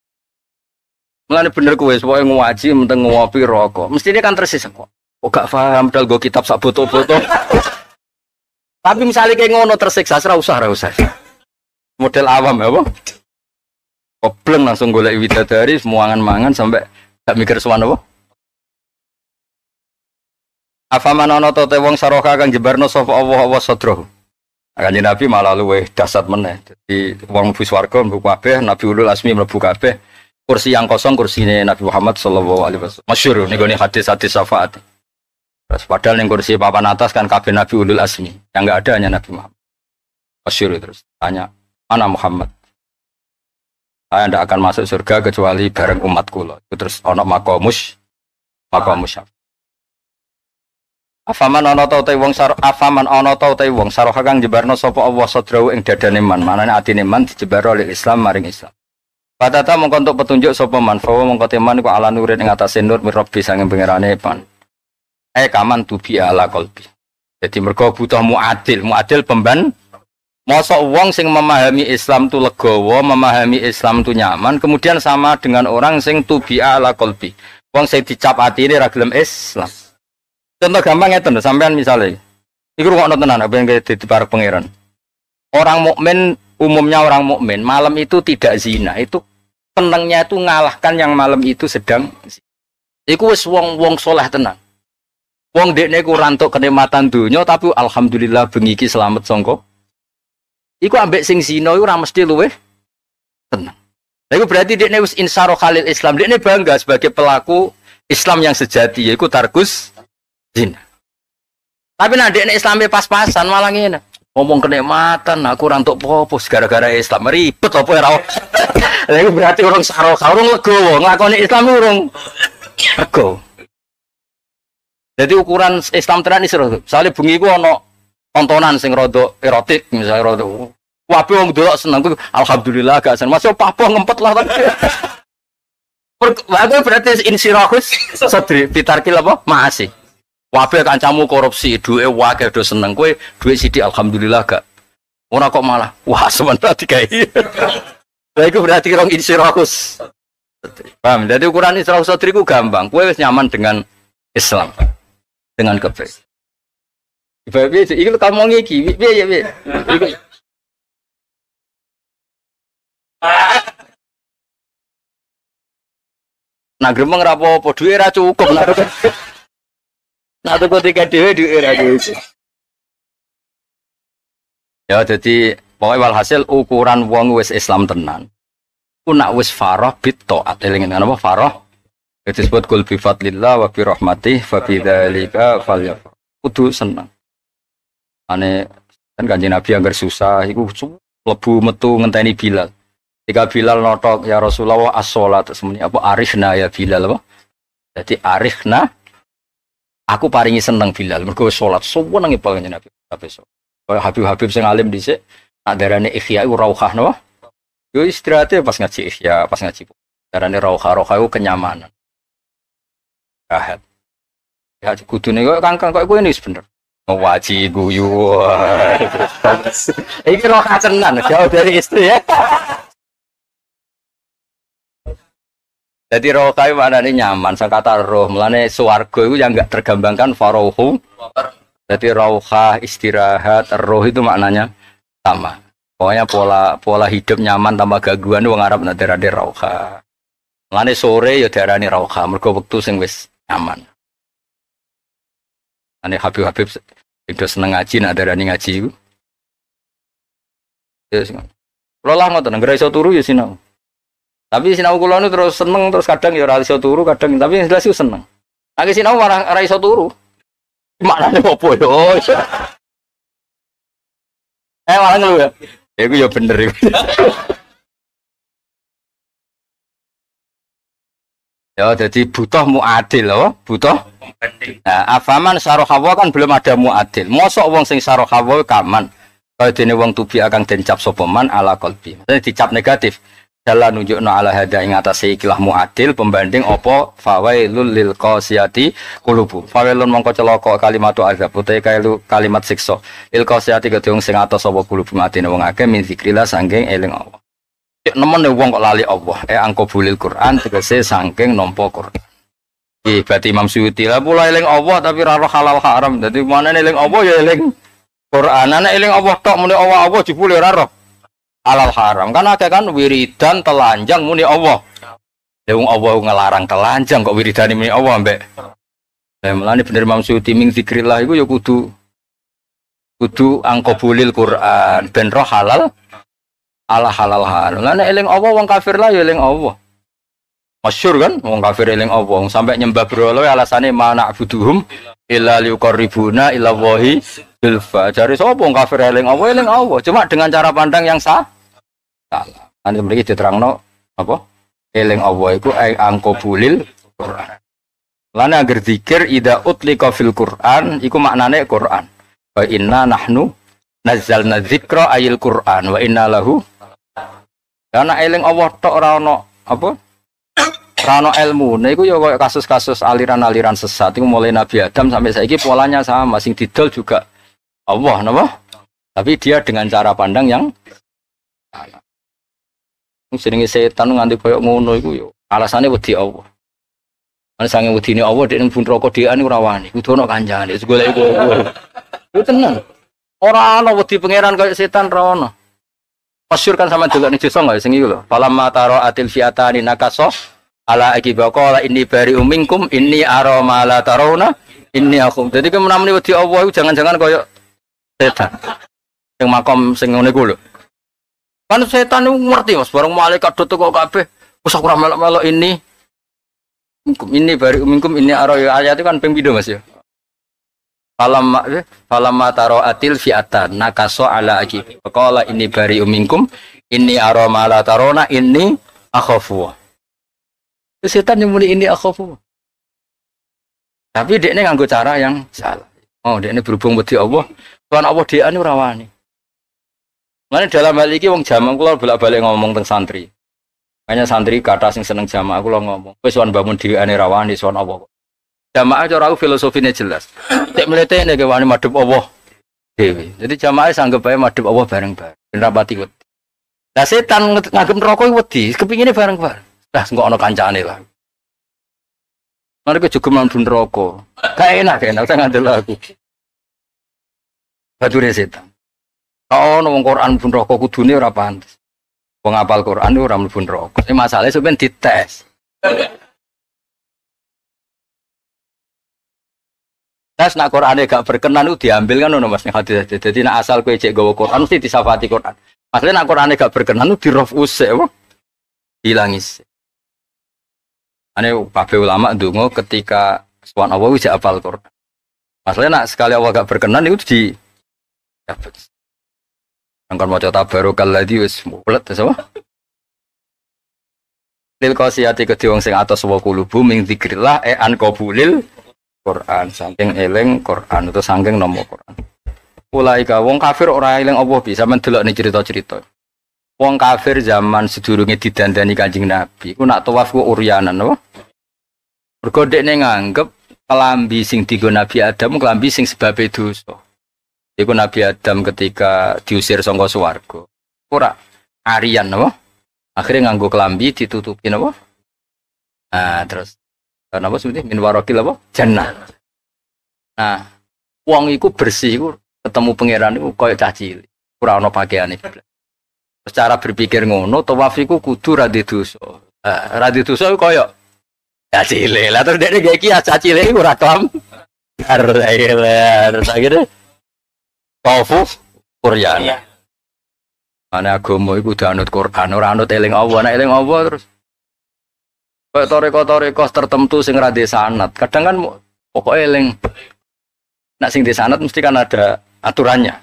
Mulane bener kowe pokoke ngaji menteng ngopi rokok. Mestine kan tersisa kok. Kok gak paham dal go kitab sak boto-boto. Tapi misalnya kayak ngono tersiksa ora usah, ora usah. Model awam ya apa? Kobleng langsung golek widadari semuangan-mangan sampai gak mikir sowan apa? Afaman ana ta te wong saroka kang jebarno sapa Allah Allah sadrahu. Kanjeng Nabi malah luwih dasar meneh. Dadi wong mlebu swarga mlebu kabeh, Nabi ulul azmi mlebu kabeh. Kursi yang kosong kursine Nabi Muhammad sallallahu alaihi wasallam. Masyhur niku hadis-hadis syafaat. Terus padahal ning kursi papan atas kan kabeh Nabi ulul azmi. Yang enggak ada hanya Nabi Muhammad. Masyhur terus tanya, "Mana Muhammad?" Saya ndak akan masuk surga kecuali bareng umat kula. Terus ana maqamus maqamus. Afaman ana ta te wong sar afaman ana ta te wong saroha kang jebarno sapa Allah sadrahu ing dadane man, manane atine man dijebaro oleh Islam maring Islam. Patata mongko entuk petunjuk sapa man, fawa mongko teman iku ala nurin ing atase nur mirabbi sange pangerane pan. Kaman tubi ala qalbi. Jadi mergo butuh muadil, muadil pemban. Mosok wong sing memahami Islam tu legowo, memahami Islam tu nyaman, kemudian sama dengan orang sing tubi ala qalbi. Wong sing dicap atine ra gelem Islam. Contoh gampang ngeten lho, sampean misale iku rungokno tenan apa yang dadi para pangeran. Orang mukmin, umumnya orang mukmin malam itu tidak zina, itu senengnya itu ngalahkan yang malam itu sedang zina. Iku wis wong-wong soleh tenan. Wong dekne iku ora entuk kenikmatan donya tapi alhamdulillah bengi iki selamat sangka. Iku ambek sing zina iku ora mesti luweh tenang. Lha iku berarti dekne wis insaro khalil Islam, dekne bangga sebagai pelaku Islam yang sejati yaiku tarkus zina. Tapi nek dekne Islame pas-pasan malah ngene. Ngomong kenikmatan, aku ora entuk apa-apa gara-gara Islam ribet apa ora. Lha iku berarti urung sarokah, urung legowo, nglakoni Islam urung legowo. Jadi ukuran Islam tenan iki seru. Misale bengi iku ana tontonan sing rada erotik, misalnya rada wabe wong delok seneng kuwi alhamdulillah gak seneng. Masih apa ngempet lah tapi. Aku berarti insirahus sadri fitarkil apa? Maasi. Wabe kancamu korupsi, duwe wae do seneng kowe, duwe sithik alhamdulillah gak. Ora kok malah wah sementara digawe. Lha iku berarti rong insirahus. Paham? Jadi ukuran insirahus sadri ku gampang. Kowe wis nyaman dengan Islam, dengan kebaikan. Piye iki kamu ngiki, piye piye. Iku nah gremeng ra apa-apa, duwe ra cukup. Nah tuku tiket dhewe duwe ra cukup. Ya jadi pokoke walhasil ukuran wong wis Islam tenan. Ku nak wis farah bit taat, eling apa farah? Itu disebut kul bi fadlillah wa bi rahmatih fa bi dzalika falyafrah. Kudu seneng. Ane Kan Kanjeng Nabi anggar susah iku mlebu metu ngenteni Bilal. Ketika Bilal notok ya Rasulullah as-sholat semuanya apa arifna ya Bilal apa? Jadi arifna aku paringi seneng Bilal mergo salat senenge pol Kanjeng Nabi besok. Kaya Habib-habib sing alim dhisik nak darane ihya iku rauhah napa? Yo istirahatnya pas ngaji ihya, pas ngaji. Darane rauhah, rauhah iku kenyamanan. Rahat. Ya kudune kok kangkang kok kowe ini bener. Ngaji guyu. Iki rauhah tenan, jauh dari istri ya. Jadi roh kae maknane nyaman, sang kata roh, mulane swarga itu yang enggak tergambangkan farohu. Jadi rauhah, istirahat, roh itu maknanya sama. Pokoknya pola hidup nyaman tanpa gangguan wong Arab nak darane rauhah. Mulane sore ya diarani rauhah, mergo wektu sing wis nyaman. Ane Habib-habib itu seneng ngaji nak darani ngaji iku. Ya sing. Kula lah ngoten, anggere iso turu ya sinau. Tapi sinau kula nu terus seneng terus kadang ya ora iso turu kadang tapi yang jelas iku seneng. Nek sinau malah ora iso turu. Maknane opo yo? Malah ngeluh ya. Ya iku ya bener iku. Ya jadi butuh muadil loh, butuh. Nah, afaman sarohawa kan belum ada muadil. Mosok wong sing sarohawa kaman. Kaya dene wong tubi akan dencap sapa man ala qalbi. Maksudnya dicap negatif. Dalam nunjukno ala hada ing atase ikilah muadil pembanding apa fawailul lil qasiyati qulubu. Fawailun mongko celaka kalimatu azab utahe kalimat siksa. Lil qasiyati kedhe wong sing atos apa qulubu atine wong akeh min zikrillah saking eling Allah. Nemen wong kok lali Allah, angko bulil Quran tegese saking nampa Quran. Iki berarti Imam Suyuti lah pula eling Allah tapi ra roh halal haram. Dadi manane eling Allah ya eling Quran. Ana eling Allah tok muni Allah Allah jebule ora roh halal haram. Kan akeh kan wiridan telanjang muni Allah. Ya wong Allah ngelarang telanjang kok wiridane muni Allah ambek. Lah mulane bener Imam Suyuti ming zikrillah iku ya kudu angko bulil Quran ben roh halal ala halal haram. Lah nek eling Allah wong kafir lah ya eling Allah. Masyhur kan wong kafir eling Allah sampai nyembah berhala alasane mana abuduhum illa liqarribuna ila wahi zulfa. Jare sapa wong kafir eling Allah eling Allah cuma dengan cara pandang yang sah. Salah. Nanti mriki diterangno apa? Eling Allah iku angkobulil Quran. Lan angger zikir ida utlika fil Quran iku maknane Quran. Wa inna nahnu nazzalna dzikra ayil Quran wa inna lahu. Karena eling Allah tok ora ono apa? Ora ono ilmune iku ya koyo kasus-kasus aliran-aliran sesat iku mulai Nabi Adam sampai saiki polanya sama, sing didol juga Allah napa? Tapi dia dengan cara pandang yang salah. Jenenge setan nganti koyo ngono iku ya alasane wedi Allah. Ana sange wedine Allah dhek ning neraka dhewean ora wani, kudu ono kancane golek iku. Iku tenan. Ora ana wedi pangeran koyo setan ora ono. Masyhur kan sama delok ning desa enggak sing iku lho. Falamma tara atil fi'atani nakaso ala aqiba qala inni bari'um minkum inni ara ma la tarawna inni akhum. Dadi ke menamuni wedi Allah iku jangan-jangan koyo setan. Sing makom sing ngene iku lho. Kan setan niku ngerti Mas, bareng malaikat do teko kabeh, wis aku ora melok-melok ini. Minkum inni bari'um minkum inni ara ayat itu kan ping pindho Mas ya. Falamma taro atil fi'atan nakaso ala aqibi qala inni bari'um minkum inni ara ma la tarona inni akhafu. Setan yang muni inni akhafu. Tapi dekne nganggo cara yang salah. Oh, dekne berhubung wedi Allah, Tuhan Allah dhewean ora wani. Mane dalam hal iki wong jamak kula bolak-balik ngomong teng santri. Makanya santri kata sing seneng jamaah kula ngomong, wis sowan bangun dheweane ra wani sowan Allah. Jamaah cara aku filosofine jelas. Cek mlete nek wani madhep Allah dhewe. Jadi jamaah sanggep ae madhep Allah bareng-bareng. Ben rapati wedi. Lah setan nganggep neraka iku wedi, kepingine bareng-bareng. Lah engko ana kancane lah. Mereka juga mlebu neraka. Gak enak, gak enak saya ngandel aku. Bature setan. Ono wong Quran mlebu neraka kudune ora pantes. Wong apal Quran ora mlebu neraka. Ini masalahnya sampeyan dites. Tes nak Qur'ane gak berkenan itu diambil kan ono Mas ning hadis. Dadi nak asal kowe cek gawa Qur'an mesti disafati Qur'an. Masalahnya nak Qur'ane gak berkenan itu dirof usik apa? Hilangis. Ane kabeh ulama ndonga ketika sowan Allah wis apal Qur'an. Masalahnya nak sekali Allah gak berkenan itu di. Angkon maca tabarokalladzi wis mulet terus apa? Lil qasiyati kedhe wong sing atos wa kulubu ming zikrillah e an qabulil Quran saking eling Quran utawa saking nampa Quran. Ulaika wong kafir ora eling Allah bisa mendelok ning cerita-cerita. Wong kafir zaman sedurunge didandani Kanjeng Nabi iku nak tawaf ku uryanan apa? Mergo dekne nganggep kelambi sing dienggo Nabi Adam kelambi sing sebabe dosa. Iku Nabi Adam ketika diusir saka swarga. Ora arian apa? Akhirnya nganggo kelambi ditutupin apa? Nah, terus napa sebutnya min waraqil apa? Jannah. Nah, wong iku bersih iku ketemu pangeran iku koyo cah cilik. Ora ana pakaiane. Secara berpikir ngono, tawaf iku kudu ra dosa. Ra dosa iku koyo cah cilik. Lah terus dekne gawe kias cah cilik iku ora kelam. Terus akhirnya tawaf uryana. Ana agama iku kudu anut Quran, ora anut eling Allah. Nek eling Allah terus kayak toreko-toreko tertentu sing ra sanad. Kadang kan pokoke eling nek sing sanad mesti kan ada aturannya.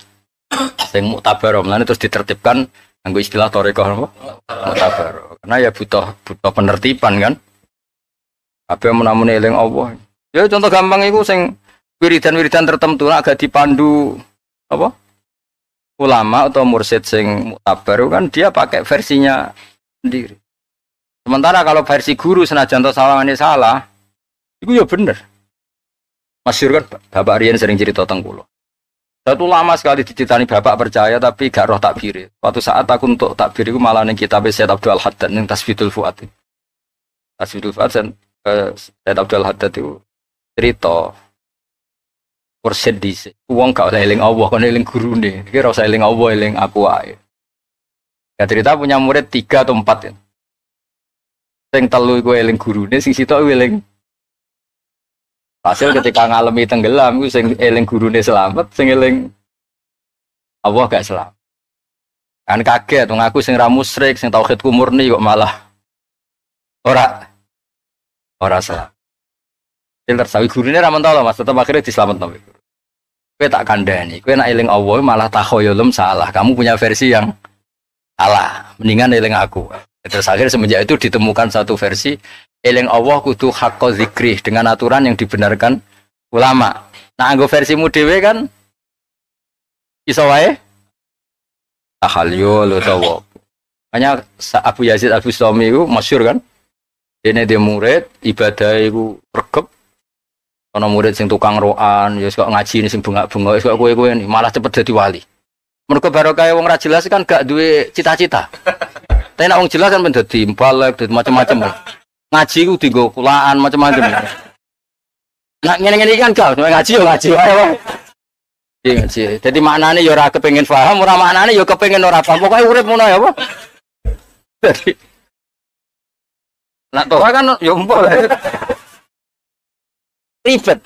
Sing muktabar mlane terus ditertibkan nganggo istilah toreko apa? Muktabar. Karena ya butuh penertiban kan. Apa menamune eling Allah. Ya contoh gampang iku sing wiridan-wiridan tertentu nek agak dipandu apa? Ulama atau mursyid sing muktabar kan dia pakai versinya sendiri. Sementara kalau versi guru senajan to sawangane salah, itu ya bener. Masyhur kan Bapak Rian sering cerita tentang kula. Satu lama sekali diceritani bapak percaya tapi gak roh takbir. Suatu saat aku untuk takbir iku malah ning kitab Sayyid Abdul Haddad ning Tasbidul Fuad. Tasbidul Fuad Sayyid Abdul Haddad itu cerita mursyid dhisik. Wong gak oleh eling Allah, kon eling gurune. Iki ora usah eling Allah, eling aku wae. Ya cerita punya murid 3 atau 4 ya. Sing telu iku eling gurune, sing sitok eling. Hasil ketika ngalami tenggelam iku sing eling gurune selamat, sing eling Allah gak selamat. Kan kaget wong aku sing ra musyrik, sing tauhidku murni kok malah ora selamat. Filter sawi gurune ra mentolo Mas, tetep akhirnya diselametno. Kowe tak kandhani, kowe nek eling Allah malah takhoyulum salah. Kamu punya versi yang salah, mendingan eling aku. Terus akhirnya semenjak itu ditemukan satu versi eling Allah kudu haqqo zikri dengan aturan yang dibenarkan ulama. Nah, anggo versimu dhewe kan iso wae tahalyul utawa. Makanya Abu Yazid Al-Bustami itu masyhur kan. Dene dia murid ibadah iku regep. Ana murid sing tukang roan, ya kok ngaji sing bengak-bengok, kok kowe-kowe malah cepet dadi wali. Mergo barokah wong ra jelas kan gak duwe cita-cita. Tapi nek wong jelas kan men dadi balek, dadi macam-macam. Ngaji ku dienggo kulaan macam-macam. Nah ngene-ngene iki kan gak ngaji yo ngaji wae. Iya ngaji. Dadi maknane yo ora kepengin paham, ora maknane yo kepengin ora paham. Pokoke urip ngono ya apa? Dadi nak toha kan yo empuk. Ribet.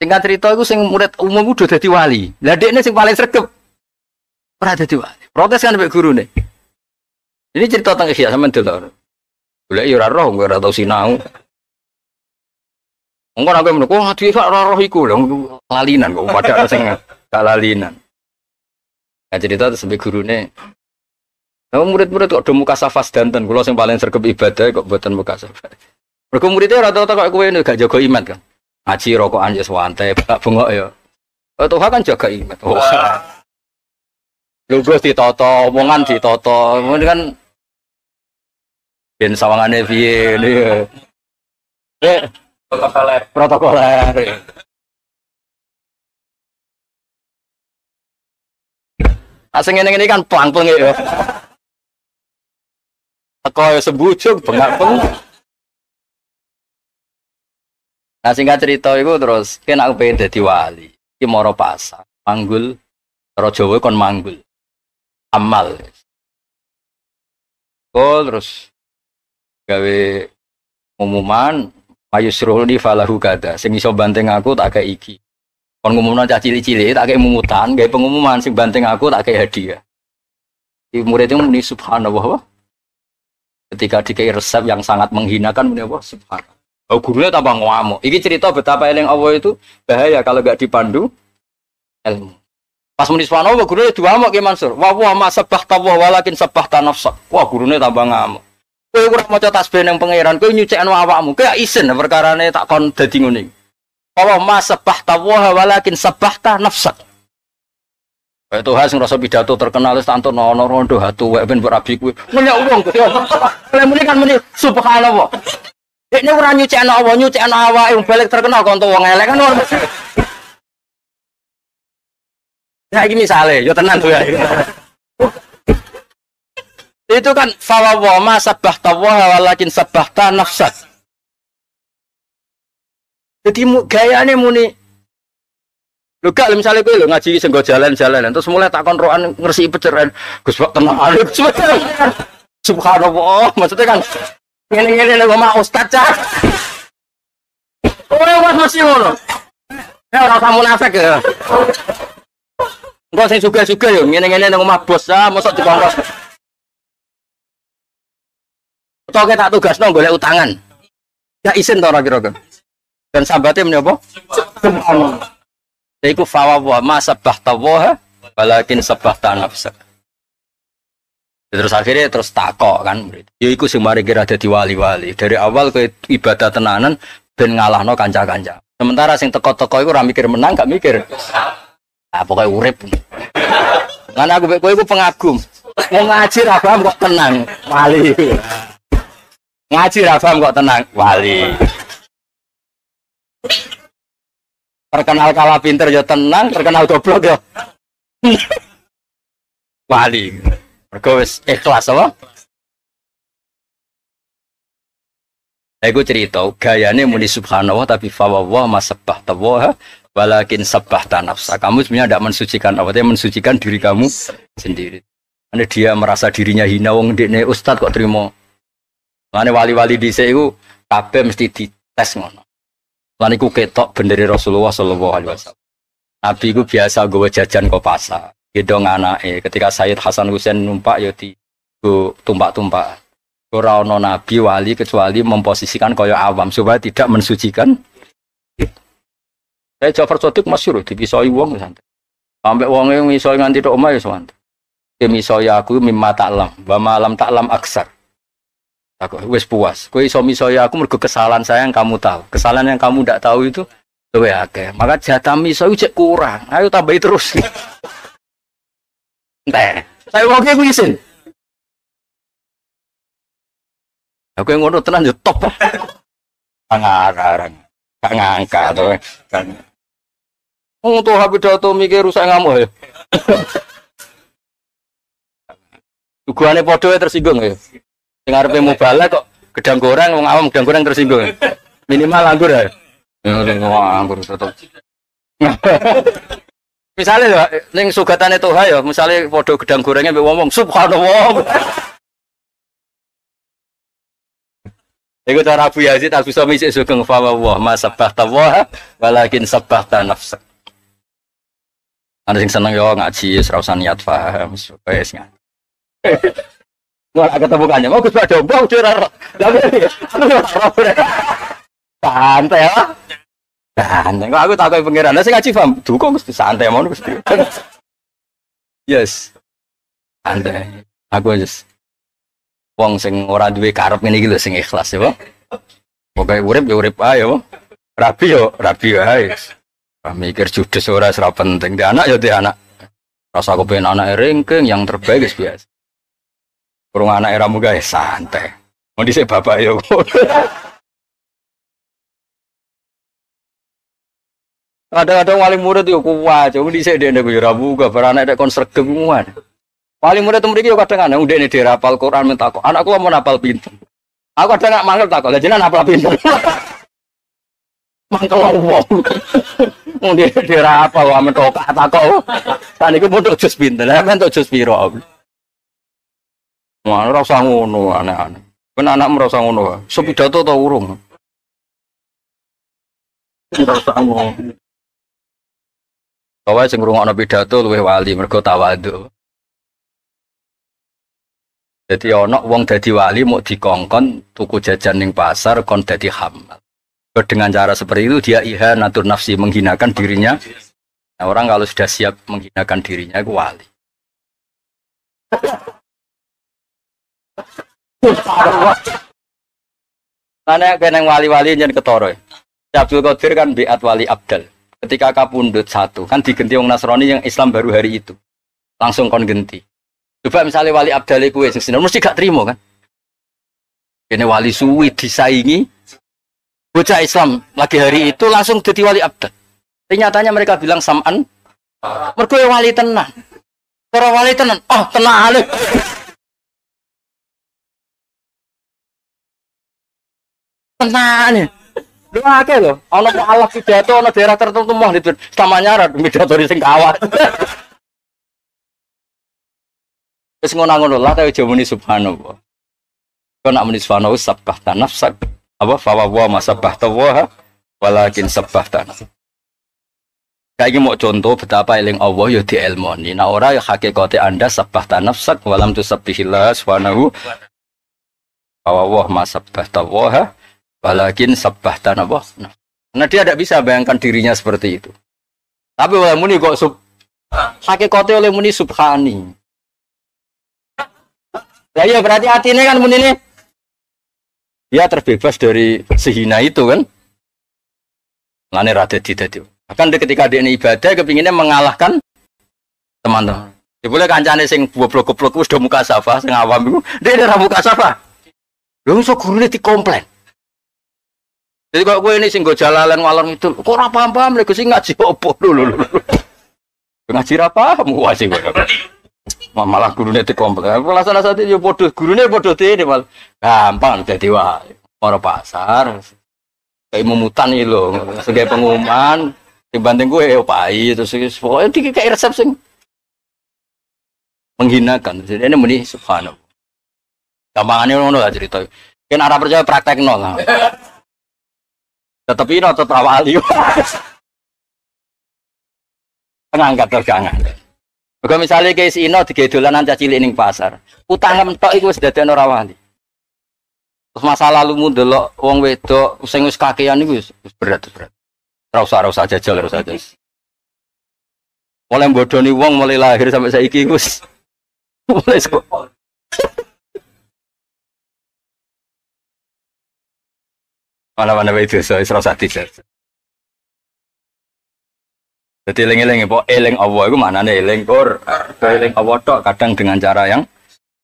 Singkat cerita iku sing murid umum udah dadi wali. Lah dekne sing paling sregep ora dadi wali. Protes kan mbek gurune. Ini cerita tentang Ihya sampean delok. Golek ya ora roh, ora tau sinau. Engko nek kowe meneh, wah dhewe gak ora roh iku lho, lalinan kok padha sing gak lalinan. Nah cerita terus mbek gurune. Lah murid-murid kok do mukasafah sedanten, kula sing paling sregep ibadah kok mboten mukasafah. Mergo muridnya ora tau kok kowe gak jaga iman kan. Ngaji rokokan ya santai, bengok ya. Toha kan jaga iman. Oh. Lungguh ditata, omongan ditata. Ngono kan ben sawangane piye ngene ya. Protokoler. Protokoler. Asing ngene-ngene kan plang-pleng ya. Teko ya sembujuk bengak-bengok. Nah singkat cerita itu terus kan aku pengen dadi wali. Iki moro pasar, manggul cara Jawa kon manggul. Amal. Kok terus gawe umuman mayusruhni falahu kada. Sing iso banting aku tak kei iki. Kon ngumumno cah cilik-cilik tak kei mumutan, gawe pengumuman sing banting aku tak kei hadiah. Iki murid itu muni subhanallah. Ketika dikei resep yang sangat menghinakan muni apa? Subhanallah. Oh, gurunya tambah ngamuk. Iki cerita betapa eling Allah itu bahaya kalau gak dipandu ilmu. Pas muni subhanallah gurune diamuk Ki Mansur. Wa wa ma sabbahta wa walakin sabbahta nafsak. Wah gurune tambah ngamuk. Kowe ora maca tasbih ning pangeran, kowe nyucekno awakmu. Kowe isin perkarane tak kon dadi ngene. Wa ma sabbahta wa walakin sabbahta nafsak. Kayak Tuhan sing rasa pidato terkenal wis tantono ana rondo hatu wek ben mbok rabi kuwi. Ngenyek wong Gusti. Lha muni kan muni subhanallah. Dekne ora nyucekno Allah, nyucekno awake wong balik terkenal konco wong elek kan ora. Ya iki misale, yo tenan tuh ya. Itu kan fa wa ma sabbahta wa walakin sabbahta nafsak. Jadi gayane muni lho gak misalnya kowe lho ngaji sing nggo jalan-jalan terus mulai takon roan ngresiki peceren Gus Bak tenang. Subhanallah, maksudnya kan ngene-ngene lho omah ustaz cah. Kowe wis mesti ngono. Ya ora usah munafik ya. Engko sing sugih-sugih yo ngene-ngene nang omah bos ah mosok dikongkos. Utawa tak tugasno golek utangan. Ya isin to ora kira-kira. Dan sambate meni apa? Subhanallah. Iku fa wa ma sabbahta wa walakin sabbahta nafsak. Terus akhirnya terus takok kan murid. Ya iku sing mari kira dadi wali-wali. Dari awal kowe ibadah tenanan ben ngalahno kanca-kanca. Sementara sing teko-teko iku ora mikir menang, gak mikir. Ah pokoke urip. Lan aku mek kowe iku pengagum. Wong ngaji ra paham kok tenang, wali. Ngaji ra paham kok tenang, wali. Terkenal kalah pinter ya tenang, terkenal goblok ya wali. Mergo wis ikhlas apa? Iku cerita gayane muni subhanallah tapi fa wa ma sabbahta wa walakin sabbahta nafsa. Kamu sebenarnya tidak mensucikan apa, tapi mensucikan diri kamu sendiri. Karena dia merasa dirinya hina wong ndekne ustaz kok trimo. Mane wali-wali dhisik iku kabeh mesti dites ngono. Lan iku ketok bendere Rasulullah sallallahu alaihi wasallam. Nabi iku biasa nggawa jajan ke pasar. Gendong anake. Ketika Sayyid Hasan Husain numpak ya di tumpak-tumpak. Ora ana nabi wali kecuali memposisikan kaya awam supaya tidak mensucikan. Saya Ja'far Shadiq masyhur dipisoi wong santai. Sampai wonge ngisoi nganti tok omah ya santai. Misoi aku mimma ta'lam wa ma lam ta'lam aksar. Aku wis puas. Kowe iso misoi aku mergo kesalahan saya yang kamu tahu. Kesalahan yang kamu ndak tahu itu luwih akeh. Maka jatah misoi cek kurang. Ayo tambahi terus. Entek. Saya wonge ku isin. Aku yang ngono tenan yo top. Ngarang. Gak ngangkat to. Wong tuh pidato mikir rusak ngamuk ya. Tuguhane padha tersinggung ya. Sing arepe mubalek kok gedang goreng wong awam gedang goreng tersinggung. Minimal anggur ya. Ya anggur tetep. Misale lho ning sugatane Toha ya, misale padha gedang gorengnya mbek wong-wong subhanallah. Iku cara Abu Yazid Al-Bustami sik sugeng fa wa ma sabbahta wa walakin sabbahta nafsak. Ana sing seneng yo ngaji wis ora usah niat paham wis wis. Ora ketemu kanjeng, oh Gus Pak Domba ora ora. Santai ya. Santai kok aku takoki pangeran, lah sing ngaji paham, dukung Gusti santai ngono Gusti. Yes. Santai. Aku wis wong sing ora duwe karep ngene iki lho sing ikhlas ya, Pak. Pokoke urip ya urip ae ya, Pak. Rabi ya rabi ae. Ora mikir judes ora ora penting. Di anak ya di anak. Rasa aku pengen anak ringking yang terbaik wis biasa. Kurang anak era muga ya santai. Mau dhisik bapak ya. Kadang-kadang wali murid yo kuat, wong dhisik dekne yo ora muga bar anak nek kon sregep kuat. Wali murid mriki yo kadang ana ndekne dhewe hafal Quran minta kok. Anakku mau hafal pinter. Aku kadang gak mangkel takok. Lah jenengan hafal pinter. Mangkel wong. Wong dhewe dhewe hafal wae mentok takok. Saniku entuk jus pinter. Lah entuk jus piro? Wah, ora usah ngono aneh-aneh. Ben anakmu ora usah ngono. Iso pidato ta urung? Ora usah ngono. Kowe sing ngrungokno pidato luwih wali mergo tawadhu. Jadi ana wong dadi wali mau dikongkon tuku jajan ning pasar kon dadi hamal. Dengan cara seperti itu dia ihanatur nafsi, menghinakan dirinya. Nah, orang kalau sudah siap menghinakan dirinya itu wali. Karena kena wali-wali yang ketoro. Abdul Qadir kan biat wali abdal. Ketika kapundhut satu kan digenti wong Nasrani yang Islam baru hari itu. Langsung kon genti. Coba misalnya wali abdal iku wis mesti gak terima kan. Kene wali suwi disaingi bocah Islam lagi hari itu langsung jadi wali abdal. Ternyatanya mereka bilang sam'an mergo wali tenan. Cara wali tenan, oh tenan alif. Tenan. Lho akeh lho, ana mualaf pidato ana daerah tertentu moh itu samanya ra pidato sing kawat. Wis ngono-ngono lah ta aja muni subhanallah. Kok nak muni subhanallah sabbahta nafsak apa fa wa ma sabbahta wa walakin sabbahta. Kayak mau contoh betapa eling Allah ya dielmoni. Nah ora ya hakikate Anda sabbahta nafsak walam tusabbihillah subhanahu wa wa ma sabbahta wa walakin sabbahta nafsak. Karena dia tidak bisa bayangkan dirinya seperti itu. Tapi oleh muni kok sub hakikate oleh muni subhani. Ya iya berarti atine kan muni ini dia terbebas dari sehina itu kan. Lane ra dadi dadi. Bahkan ketika dia ini ibadah kepinginnya mengalahkan teman-teman. Ya boleh kancane sing goblok-goblok wis do muka safa sing awam iku, dia ora muka safa. Lho iso gurune dikomplain. Jadi kok kowe ini sing nggo jalalan ngalor ngidul, kok ora paham-paham lek sing ngaji opo lho lho. Ngaji ra paham wae sing kowe. Malah gurune dikomplain. Alasan-alasan yo padha gurune padha dene malah gampang dadi wae. Ora pasar. Kayak mumutan iki lho, sebagai pengumuman dibanding gue ya pai terus pokoknya iki kayak resep sing menghinakan. Jadi ini muni subhanallah. Gampangane ngono lah cerita. Ken ora percaya praktekno lah. Tetep ino tetep wali. Ngangkat terus ngangkat. Mergo misale kes ino digawe dolanan cah cilik ning pasar. Utang entok iku wis dadekno ora wali. Terus masa lalumu ndelok wong wedok sing wis kakean iku wis berat berat. Ora usah jajal, ora usah jajal. Mulai bodoni wong mulai lahir sampai saiki iku wis mulai sekolah. Mana-mana wae dosa wis ora usah dijajal. Dadi eling-eling apa eling Allah iku maknane eling Quran. Eling Allah tok kadang dengan cara yang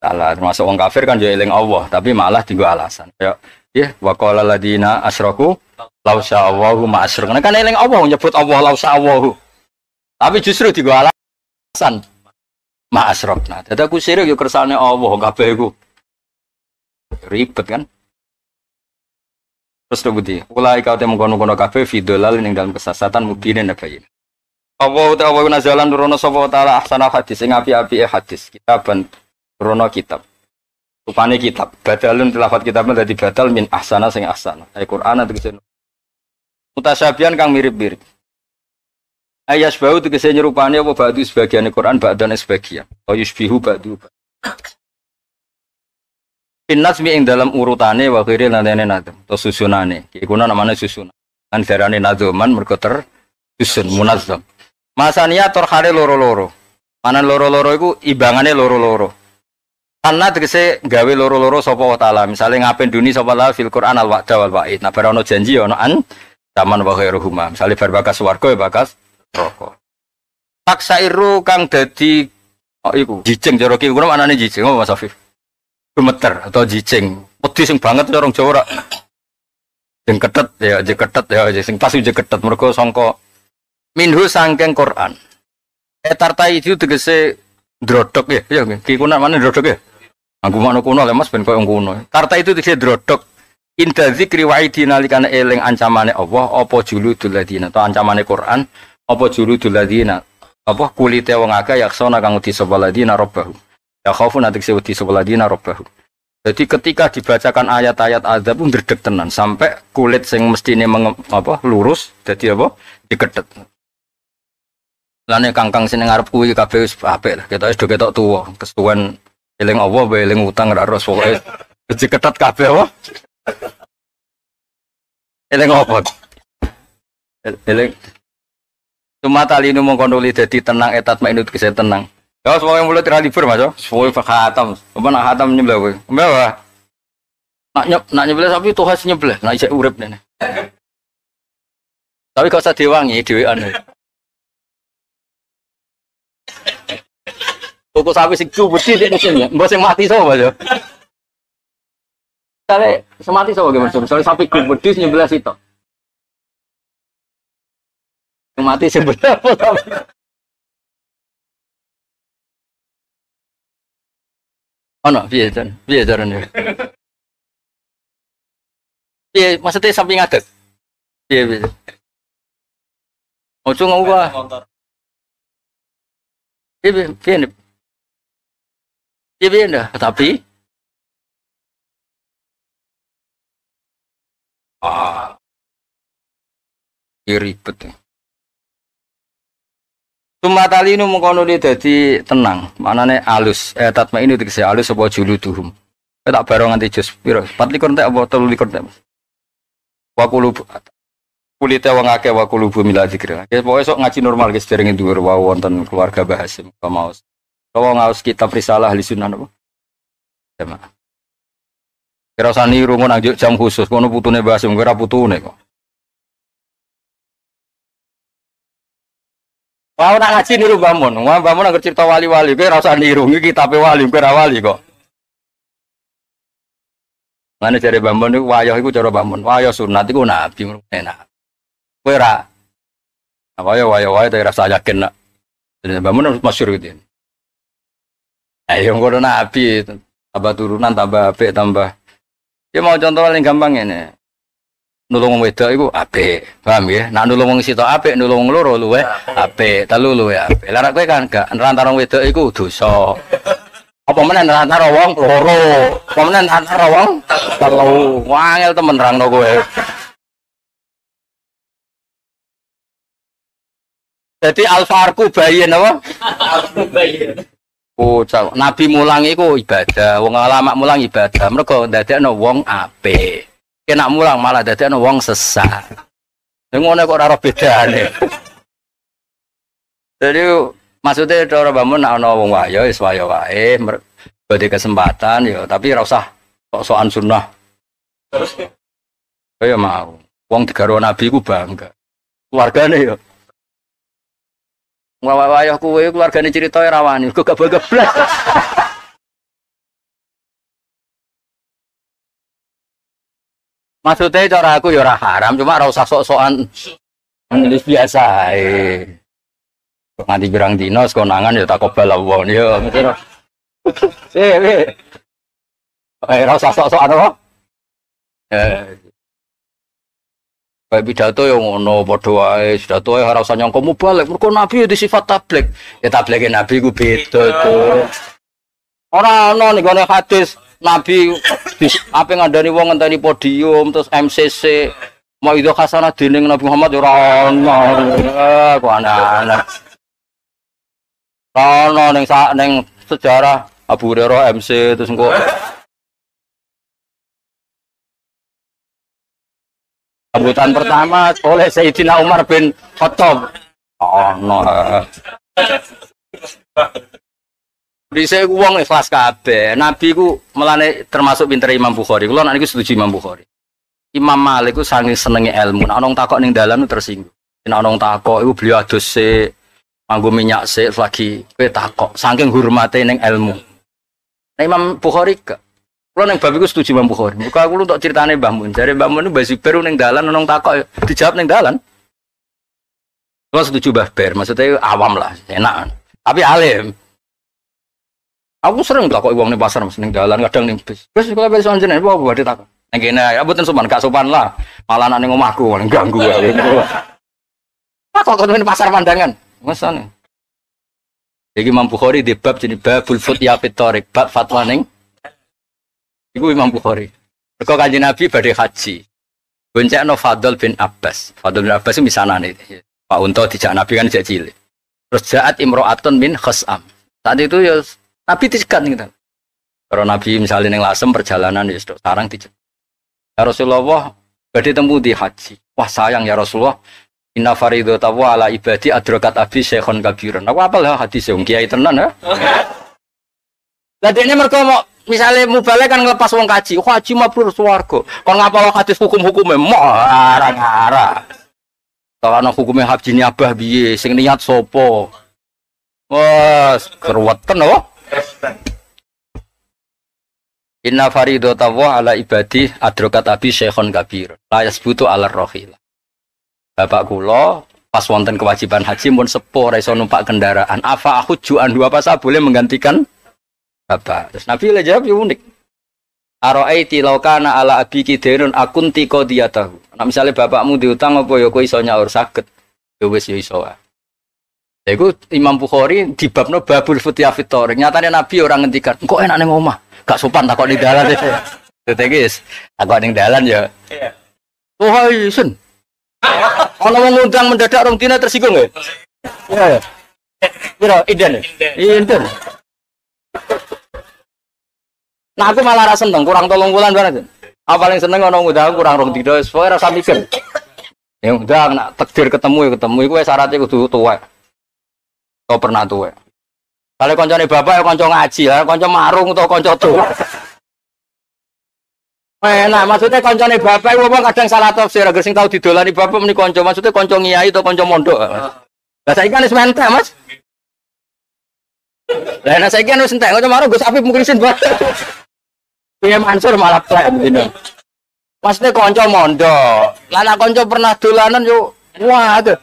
salah. Termasuk wong kafir kan yo eling Allah, tapi malah dienggo alasan. Ya, ya wa qala ladina asyraku law sya'allahu ma asyrakna. Kan eling Allah nyebut Allah law sya'allahu. Tapi justru dienggo alasan ma asyrakna. Dadi aku sirik yo kersane Allah kabeh iku. Ribet kan? Terus budi, ulai kau temu kono-kono kabeh fidolal ning dalam kesesatan mubinin bayin. Allah ta'ala nazalan nurono sapa ta'ala ahsana hadis sing api-apike hadis kitaban nurono kitab. Rupane kitab badalun tilafat kitab dadi badal min ahsana sing ahsana. Ai Qur'an tegese mutasyabihan kang mirip-mirip. Ayas bau tegese nyerupane apa ba'du sebagian Qur'an ba'dan sebagian. Wa yusbihu ba'du. Pinnazmi ing dalam urutane wa ghairi lanene nadzam atau susunane. Iku namane susunan. Kan darane nadzoman mergo tersusun munazzam. Masania torhare loro-loro. Manan loro-loro iku imbangane loro-loro. Karena tegese gawe loro-loro sapa wa taala. Misale ngapen duni sapa la fil Qur'an al wa'da wal wa'id. Nah bar ono janji ono an taman wa ghairuhuma. Misale bar bakas swarga ya bakas neraka. Taksairu kang dadi oh iku jijing cara ki kuno anane jijing apa Mas Afif? Gemeter atau jijing. Wedi sing banget cara Jawa ora. Sing ketet ya, jek ketet ya, sing pas jek ketet mergo sangka minhu sangking Quran. Etarta itu tegese ndrodok ya, ya ki kuna mana ndrodok ya? Aku makna kuno lho Mas ben koyo kuno. Tarta itu tegese ndrodok. Inda zikri wa'idi nalikane eling ancamane Allah apa juludul ladina atau ancamane Quran apa juludul ladina apa kulite wong akeh yaksana kang wedi sapa ladina rabbahu. Ya khaufun tegese wedi sapa ladina rabbahu. Jadi ketika dibacakan ayat-ayat azab pun ndredeg tenan sampai kulit sing mestine apa lurus dadi apa diketet. Lane kangkang sing ngarep kuwi kabeh wis apik lah. Ketoke do ketok tuwa, kesuwen eling Allah wae eling utang ora ros pokoke diketet kabeh apa. Eling apa? Eling Cuma tali ini mongko nuli dadi tenang etat mainut kese tenang. Ya semoga mulut ra libur Mas. Suwe khatam. Apa nak khatam nyebelah kowe? Mbah. Nak nyebelah sapi tuh khas nyebelah, nak isek urip nene. Tapi gak usah diwangi dhewean. Tuku sapi sing gede dekne sing mbok sing mati sapa ya? Misale semati sapa ge Mas? Misale sapi gede nyebelah sitok. Sing mati sing berapa tapi. Ono piye jan? Piye carane? Piye maksudnya sapi ngadeg? Piye piye? Ojo ngomong. Piye piye piye piye ndah tapi ah ribet. Sumatali nu mengkono li dadi tenang, maknane alus. Tatma ini tegese alus apa juluduhum. Kowe tak bareng nganti juz piro? 24 entek apa 23 entek, Mas? Wa qulub kulite wong akeh wa qulubu mila zikrillah. Ya pokoke sok ngaji normal guys derenge dhuwur wau wonten keluarga Mbah Hasim kamaos. Kalau ngaos kitab risalah ahli sunnah napa? Jamaah. Kira usah niru ngono nang jam khusus kono putune Mbah Hasim kowe ora putune kok. Wah, nak ngaji niru Mbah Mun. Wah, Mbah Mun angger cerita wali-wali, kowe ora usah niru, iki kitabe wali, kowe ora wali kok. Mane jare Mbah Mun niku wayah iku cara Mbah Mun. Wayah sunat iku nabi enak. Kowe ora. Wayah wayah wae tapi ora usah yakin nak. Jadi Mbah Mun masyhur gitu. Ayo ngono nabi tambah turunan tambah apik tambah. Ya mau contoh paling gampang ngene. Nulung wong wedok iku apik, paham nggih? Nek nulung wong sitok apik, nulung wong loro luwih apik, telu luwih apik. Lah nek kowe kan gak nerantara wong wedok iku dosa. Apa meneh nerantara wong loro, apa meneh nerantara wong telu. Wangel temen nerangno kowe. Jadi alfarku bayin apa? Alfarku bayin. Oh, Nabi mulang iku ibadah, wong ulama mulang ibadah. Mergo ndadekno wong apik. Kena mulang malah dadekno wong sesat. Ning ngono kok ora ro bedane. Jadi maksudnya cara Mbah Mun nek ana wong wayo wis wayo wae, badhe kesempatan ya, tapi ora usah sok-sokan sunnah. Terus kaya mau. Wong digarwa Nabi ku bangga. Keluargane ya. Wayo kowe keluargane cerita ora wani, kok gak bangga blas. Maksudnya cara aku ya ora haram, cuma ora usah sok-sokan nulis biasa ae. Nganti pirang dina sekonangan ya takobal Allah ya mesti. Eh, ora usah sok-sokan apa? Kayak pidato ya ngono padha wae, pidato ora usah nyangka mubalek, mergo nabi ya disifat tabligh. Ya tableke nabi ku beda to. Ora ana ning gone hadis Nabi apa ngandani wong ngenteni podium terus MCC mau itu khasanah dening Nabi Muhammad ora ono. Kok aneh-aneh. Ono ning ning sejarah Abu Hurairah MC terus engko sambutan pertama oleh Sayyidina Umar bin Khattab. Ono. Dhisik wong ikhlas kabeh. Nabi ku melane termasuk pintere Imam Bukhari. Kula nek niku setuju Imam Bukhari. Imam Malik ku saking senenge ilmu. Nek ana wong takok ning dalan tersinggung. Nek ana wong takok iku beliau adus sik, nganggo minyak sik lagi kowe takok. Saking hormate ning ilmu. Nek Imam Bukhari gak. Kula ning bab iku setuju Imam Bukhari. Muga aku untuk critane Mbah Mun. Jare Mbah Mun Mbah Zubair ning dalan ana wong takok dijawab ning dalan. Kula setuju Mbah Ber, maksudnya awam lah, enak. Tapi alim. Aku sering takok wong ning pasar, ning dalan kadang ning bis. Wis kula wis anjen apa badhe takok. Ning kene ya mboten sopan, gak sopan lah. Malah nek ning omahku ganggu aku. Takok kok ning pasar pandangan. Mesane. Iki Imam Bukhari di bab jenenge babul futya fit thariq, bab fatwa ning iku Imam Bukhari. Mergo Kanjeng Nabi badhe haji. Goncekno Fadl bin Abbas. Fadl bin Abbas itu misanane. Pak Unta dijak Nabi kan dijak cilik. Terus jaat imro'atun min khas'am. Saat itu ya Nabi dicegat gitu. Kalau Nabi misalnya neng Lasem perjalanan ya sarang dicegat. Ya Rasulullah badhe temu di haji. Wah sayang ya Rasulullah, Inna faridata wa ala ibadi adrakat abi syekhon kabiran. Aku apal ya hadis wong kiai tenan ya. Lah dekne mergo mau misale mubalek kan ngelepas wong kaji, haji mabrur swarga. Kon ngapal hadis hukum-hukume moh arang-arang. Kalau ana hukume haji niabah piye, sing niat sapa? Wah, keruwetan apa? Inna faridata wa ala ibadi adrakat abi syekhon kabir. La yasbutu ala rohila. Bapak kula pas wonten kewajiban haji mun sepuh ora iso numpak kendaraan. Afa ahujju anhu, apa saya boleh menggantikan bapak? Terus Nabi le jawab ya unik. Araiti law kana ala abiki dainun akunti qadiyatahu. Nah misalnya bapakmu diutang apa ya kowe iso nyaur saged. Ya wis ya iso wae. Lha iku Imam Bukhari dibabno babul futya fit thoriq. Nyatane Nabi ora ngendikan, "Engko enak ning omah, gak sopan takok ning dalan." Dadi guys, takok ning dalan ya. Iya. Oh hai sen. Ana wong ngundang mendadak rong dina tersinggung ya? Iya. Piro inden? Inden. Nah aku malah ra seneng kurang 3 wulan bareng. Aku paling seneng ana ngundang kurang 2 dina wis pokoke ra usah mikir. Ya undang nak takdir ketemu ya ketemu iku wis syaratnya kudu tuwek. Kau pernah tuwek. Kalau koncone bapak ya kanca ngaji lah, kanca marung utawa kanca tuwek. Enak, maksudnya koncone bapak iku wong kadang salah tafsir, agar sing tau didolani bapak meni kanca, maksudnya kanca ngiyai atau kanca mondok. Lah saiki kan wis mentek, Mas. Lah nek saiki kan wis entek, kanca marung Gus Afif mukrisin banget. Piye Mansur malah plek dino. Maksudnya kanca mondok. Lah nek kanca pernah dolanan yo wah aduh.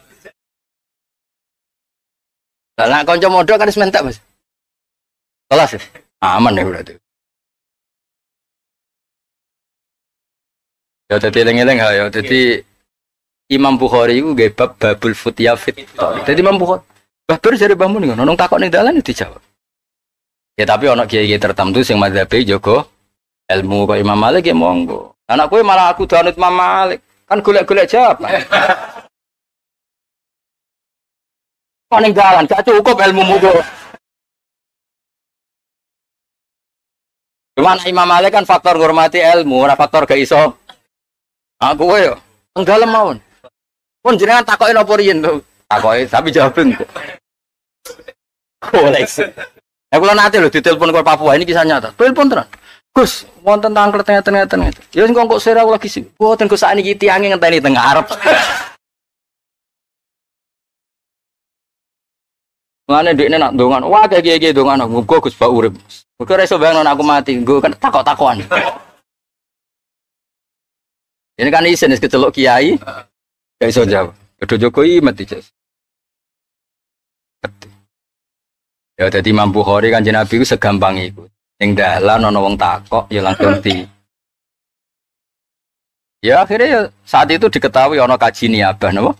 Lah nek kanca mondok kan wis mentek, Mas. Kelas ya? Aman ya berarti. Ya dadi eling-eling ya. Dadi Imam Bukhari iku nggih bab babul futya fit thoriq. Dadi Imam Bukhari Mbah Ber jare Mbah Mun ngono, nang takok ning dalan dijawab. Ya tapi ana kiai-kiai tertentu sing mazhabe jaga ilmu kok Imam Malik ya monggo. Anak kowe malah aku danut Imam Malik. Kan golek-golek jawaban. Kok ning dalan gak cukup ilmumu kok. Cuman Imam Malik kan faktor ngurmati ilmu, ora faktor gak iso. Aku kowe yo teng dalem mawon. Pun jenengan takoki napa riyen to? Takoki tapi jawaben kok. Koleksi. Aku kula nate lho ditelepon ke Papua, ini kisah nyata. Telepon tenan. Gus, wonten tangklet ngeten-ngeten. Ya sing kok sira aku lagi sih. Mboten Gus sakniki tiange ngenteni teng ngarep. Mane ndekne nak ndongan, wah kiye-kiye ndongan aku muga Gus bak urip. Mergo ora iso bayangno aku mati, nggo kan takok-takokan. Ini kan isin wis keceluk kiai. Gak iso jawab. Kudu Jokowi mati jas. Ya dadi Imam Bukhari Kanjeng Nabi ku segampang iku. Ning dalan ana wong takok ya langsung di. Ya akhirnya ya, saat itu diketahui ana kaji niabah napa?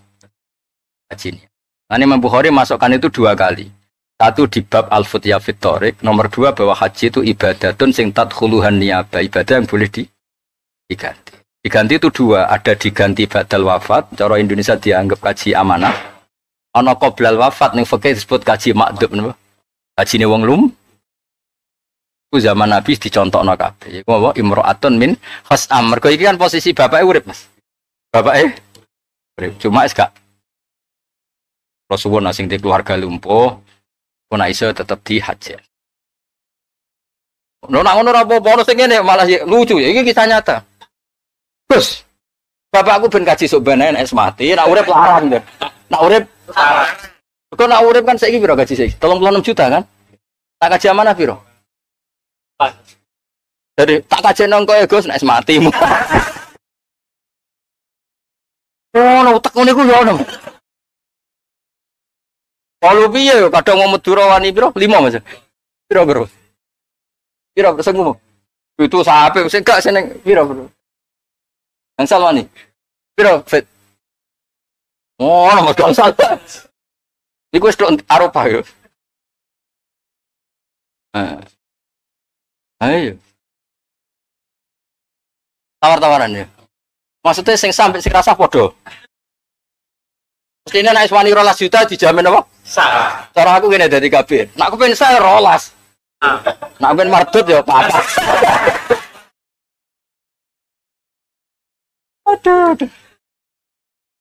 Kaji niabah. Nah, Imam Bukhari masukkan itu 2 kali. Satu di bab al-futya fit thoriq, nomor 2 bahwa haji itu ibadatun sing tadkhuluhan niabah, ibadah yang boleh diganti. Diganti itu 2, ada diganti badal wafat, cara Indonesia dianggap kaji amanah. Ana qoblal wafat ning fikih disebut kaji makdub napa? Kajine wong lum. Iku zaman Nabi dicontokno kabeh. Iku apa? Imro'atun min khas'am. Mergo iki kan posisi bapake urip, Mas. Bapake urip, cuma wis gak Rasulullah sing di keluarga lumpuh, pun iso tetep dihajar. Lho nek ngono ora apa-apa, ono sing ngene malah lucu ya. Iki kisah nyata. Gus, bapakku ben kaji sok ben nek mati, nek urip larang deh. Nek urip larang. Kok nek urip kan saiki piro gaji saiki? 36 juta kan? Tak kaji amanah piro? Jadi tak kaji nang kowe Gus nek mati. Ono utek ngene iku ya ono. Kalau piye yo kadang wong Madura wani piro? 5 Mas. Piro, Bro? Piro sing ngomong? Itu sape sing gak seneng piro, Bro? Gangsal wani. Piro, Fit? Oh, nomor gangsal. Iku wis tok Arafah yo. Ayo. Tawar-tawaran ya. Maksudnya sing sampai sing rasah padha. Mestine nek wani 12 juta dijamin apa? Sah. Cara aku ngene dadi kabeh. Nek aku pengen sah 12. Nek aku pengen mardut ya apa. Aduh, aduh.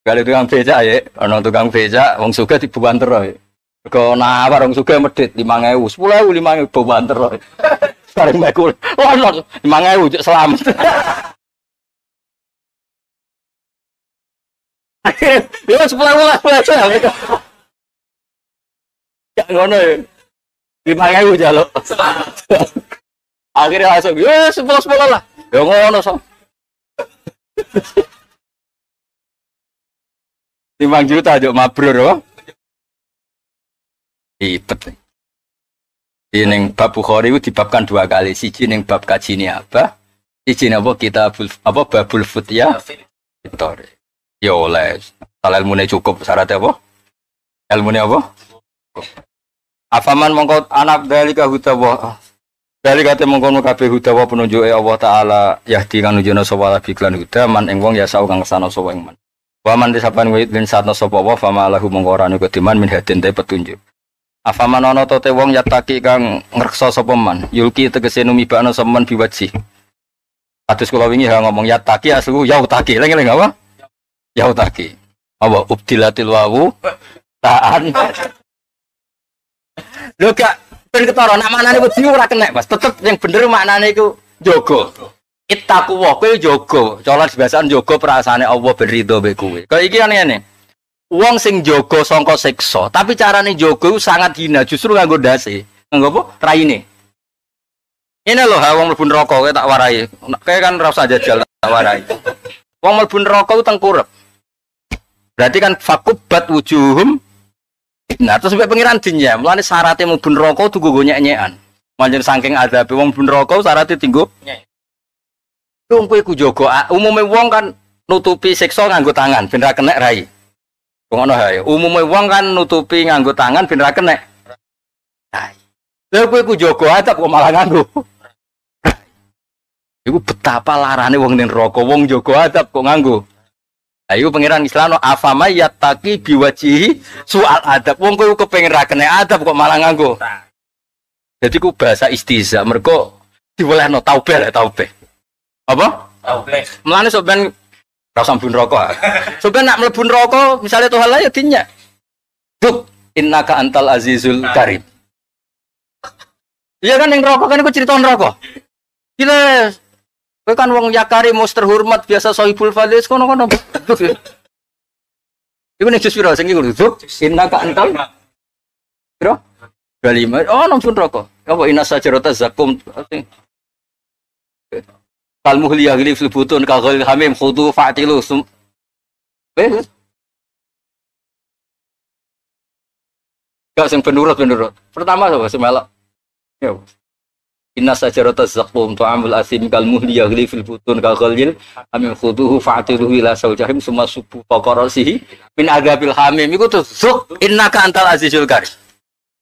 Kali tukang becak ya, ana tukang becak wong sugih dibuanter ya. Mergo nawar wong sugih medhit 5.000, 10.000, 5.000 buanter. Bareng mekul, ono 5.000 cek selamat. Ya 10.000 lah, 10.000. Ya ngono ya. 5.000 jaluk. Akhirnya langsung, ya 10-10 lah. Ya ngono so. 5 juta jok mabrur apa? Ribet. Di ning bab Bukhari itu dibabkan dua kali. Siji ning bab kajine apa? Siji napa kitabul apa babul futya. Fitor. Ya oleh. Kalau ilmune cukup syaratnya apa? Ilmune apa? Afaman mongko anak dalika hudawa. Dalika te mongkono kabeh hudawa penunjuke Allah taala yahdi kang nunjukna sapa labi klan huda man ing wong ya sau kang kesana sapa ing man. Wa man disapan wit lin satna sapa wa fama lahu mongko ora ana kediman min hadin te petunjuk. Afaman ana te wong yataki kang ngreksa sapa man yulki tegese numibakna sapa man biwaji. Kados kula wingi ha ngomong yataki aslu yautaki eling-eling apa? Yautaki. Apa ubdilatil wawu ta'an. Lho gak ben ketara nek maknane wedi ora kenek Mas. Tetep yang bener maknane iku njaga. Ittaqu wa kowe njaga. Cara dibahasan njaga perasaane Allah ben ridho mbek kowe. Kaya iki kan ngene. Wong sing njaga sangka siksa, tapi carane njaga iku sangat hina, justru nganggo ndase. Nganggo apa? Raine. Ngene lho ha wong mlebu neraka kowe tak warai. Kowe kan ora usah jajal tak warai. Wong mlebu neraka ku tengkurep. Berarti kan fakubat wujuhum. Nah, terus sampai pengiran dinya, mulane syaratnya mlebu neraka kudu nggo nyek-nyekan. Manjen saking azabe wong mlebu neraka syaratnya tinggo nyek. Wong kowe ku jaga, umume wong kan nutupi siksa nganggo tangan ben ra kenek rai. Ngono hae. Umume wong kan nutupi nganggo tangan ben ra kenek rai. Lha kowe ku jaga adab kok malah nganggo. Iku betapa larane wong ning neraka, wong jaga adab kok nganggo. Lah iku pangeran Islam afama yattaqi biwajihi su'al adab. Wong kowe kepengin ra kena adab kok malah nganggo. Jadi ku bahasa istiza mergo diwelehno taubeh lah taubeh. Apa? Taubeh. Mulane sok ben ora usah mlebu neraka. Sok ben nak mlebu neraka misale Tuhan lah ya dinyak. Duk innaka antal azizul karim. Iya kan ning neraka kan iku cerita neraka. Gila. Kowe kan wong yakari mus terhormat biasa sohibul fadhil kono-kono. Iku ning jus piro sing iku lho. Innaka antal piro? 25. Oh, nang neraka. Apa inna sajarata zakum. Kal muhli yaghli fil butun ka ghalil hamim khudu fa'tilu. Wes. Gak sing penurut. Pertama sapa sing melok? Ya. Inna sajarata zaqqum ta'amul asim kal muhli yaghli fil butun ka ghalil hamim khuduhu fa'tiluhu ila saujahim summa subbu faqarasihi min adzabil hamim. Iku terus zuk innaka antal azizul karim.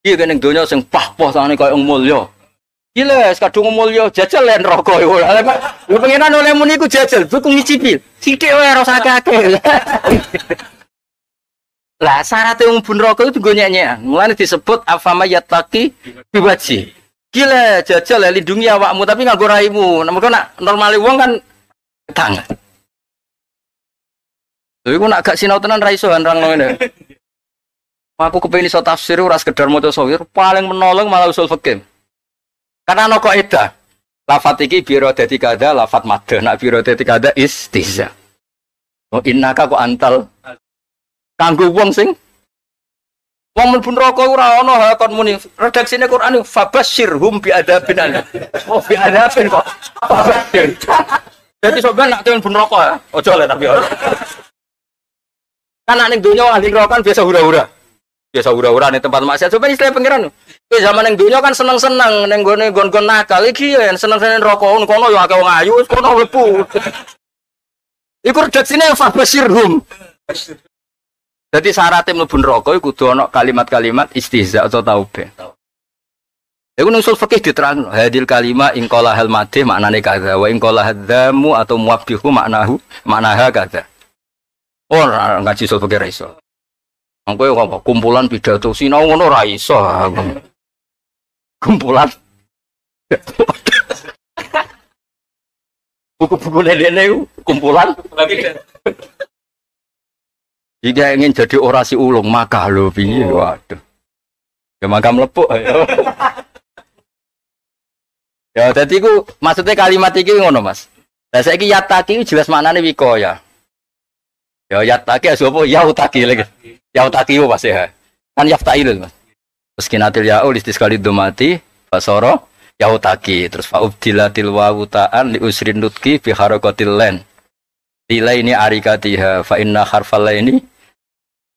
Iki ning donya sing pah-pah sangane kaya wong mulya. Gila, kadung mulya jajal len neraka iku. Lho pengenan oleh muni iku jajal, iku ngicipi. Sithik wae ora usah akeh-akeh. Lah syaratnya wong mlebu neraka iku nggo nyek-nyekan. Mulane disebut afama yattaqi biwaji. Gila, jajal lindungi awakmu tapi nganggo raimu. Mergo nak normale wong kan tangan. Lha iku nak gak sinau tenan ra iso nerangno ngene. Aku kepengin iso tafsir ora sekedar maca sawir, paling menolong malah usul fikih. Karena ana kaidah. Lafat iki biro dadi kada, lafat madh. Nak biro dadi kada istihza. Oh innaka kok antal kanggo wong sing wong mlebu neraka ora ana ha kon muni. Redaksine Quran fabasyirhum bi adzabin alim. Oh bi adzabin kok. Fabasyir. Dadi sampean nak mlebu neraka ya, aja le tapi ora. Kan nek ning donya ahli neraka kan biasa hura-hura. Biasa hura-hura ning tempat maksiat. Sampeyan istilah pangeran. Kowe zaman ning donya kan seneng-seneng ning gone nggon-nggon nakal iki ya seneng-seneng neraka kono ya akeh wong ayu wis kono mlebu. Iku redaksine fabasyirhum. Jadi syaratnya mlebu neraka iku kudu ana kalimat-kalimat istihza atau taubeh. Iku nang usul fikih diterangno, hadil kalima in qala hal madih maknane kadza wa in qala hadzamu atau muwabbihu maknahu maknaha kadza. Ora ngaji usul fikih ra iso. Wong kowe kok kumpulan pidato sinau ngono ra iso. Kumpulan buku-buku lelene kumpulan. Jika ingin jadi orasi ulung maka lho piye waduh. Ya maka mlepuk ya. Ya dadi iku maksudnya kalimat iki ngono Mas. Lah saiki yataki jelas maknane wikoya. Ya yataki sapa ya utaki lagi. Ya utaki yo pasti ya. Kan yaftail Mas. Terus kinatil ya ulis sekali domati fasoro ya utaki terus fa ubdilatil wawu ta'an li usrin nutqi bi harakatil len. Nilai ini arikatiha fa inna harfal ini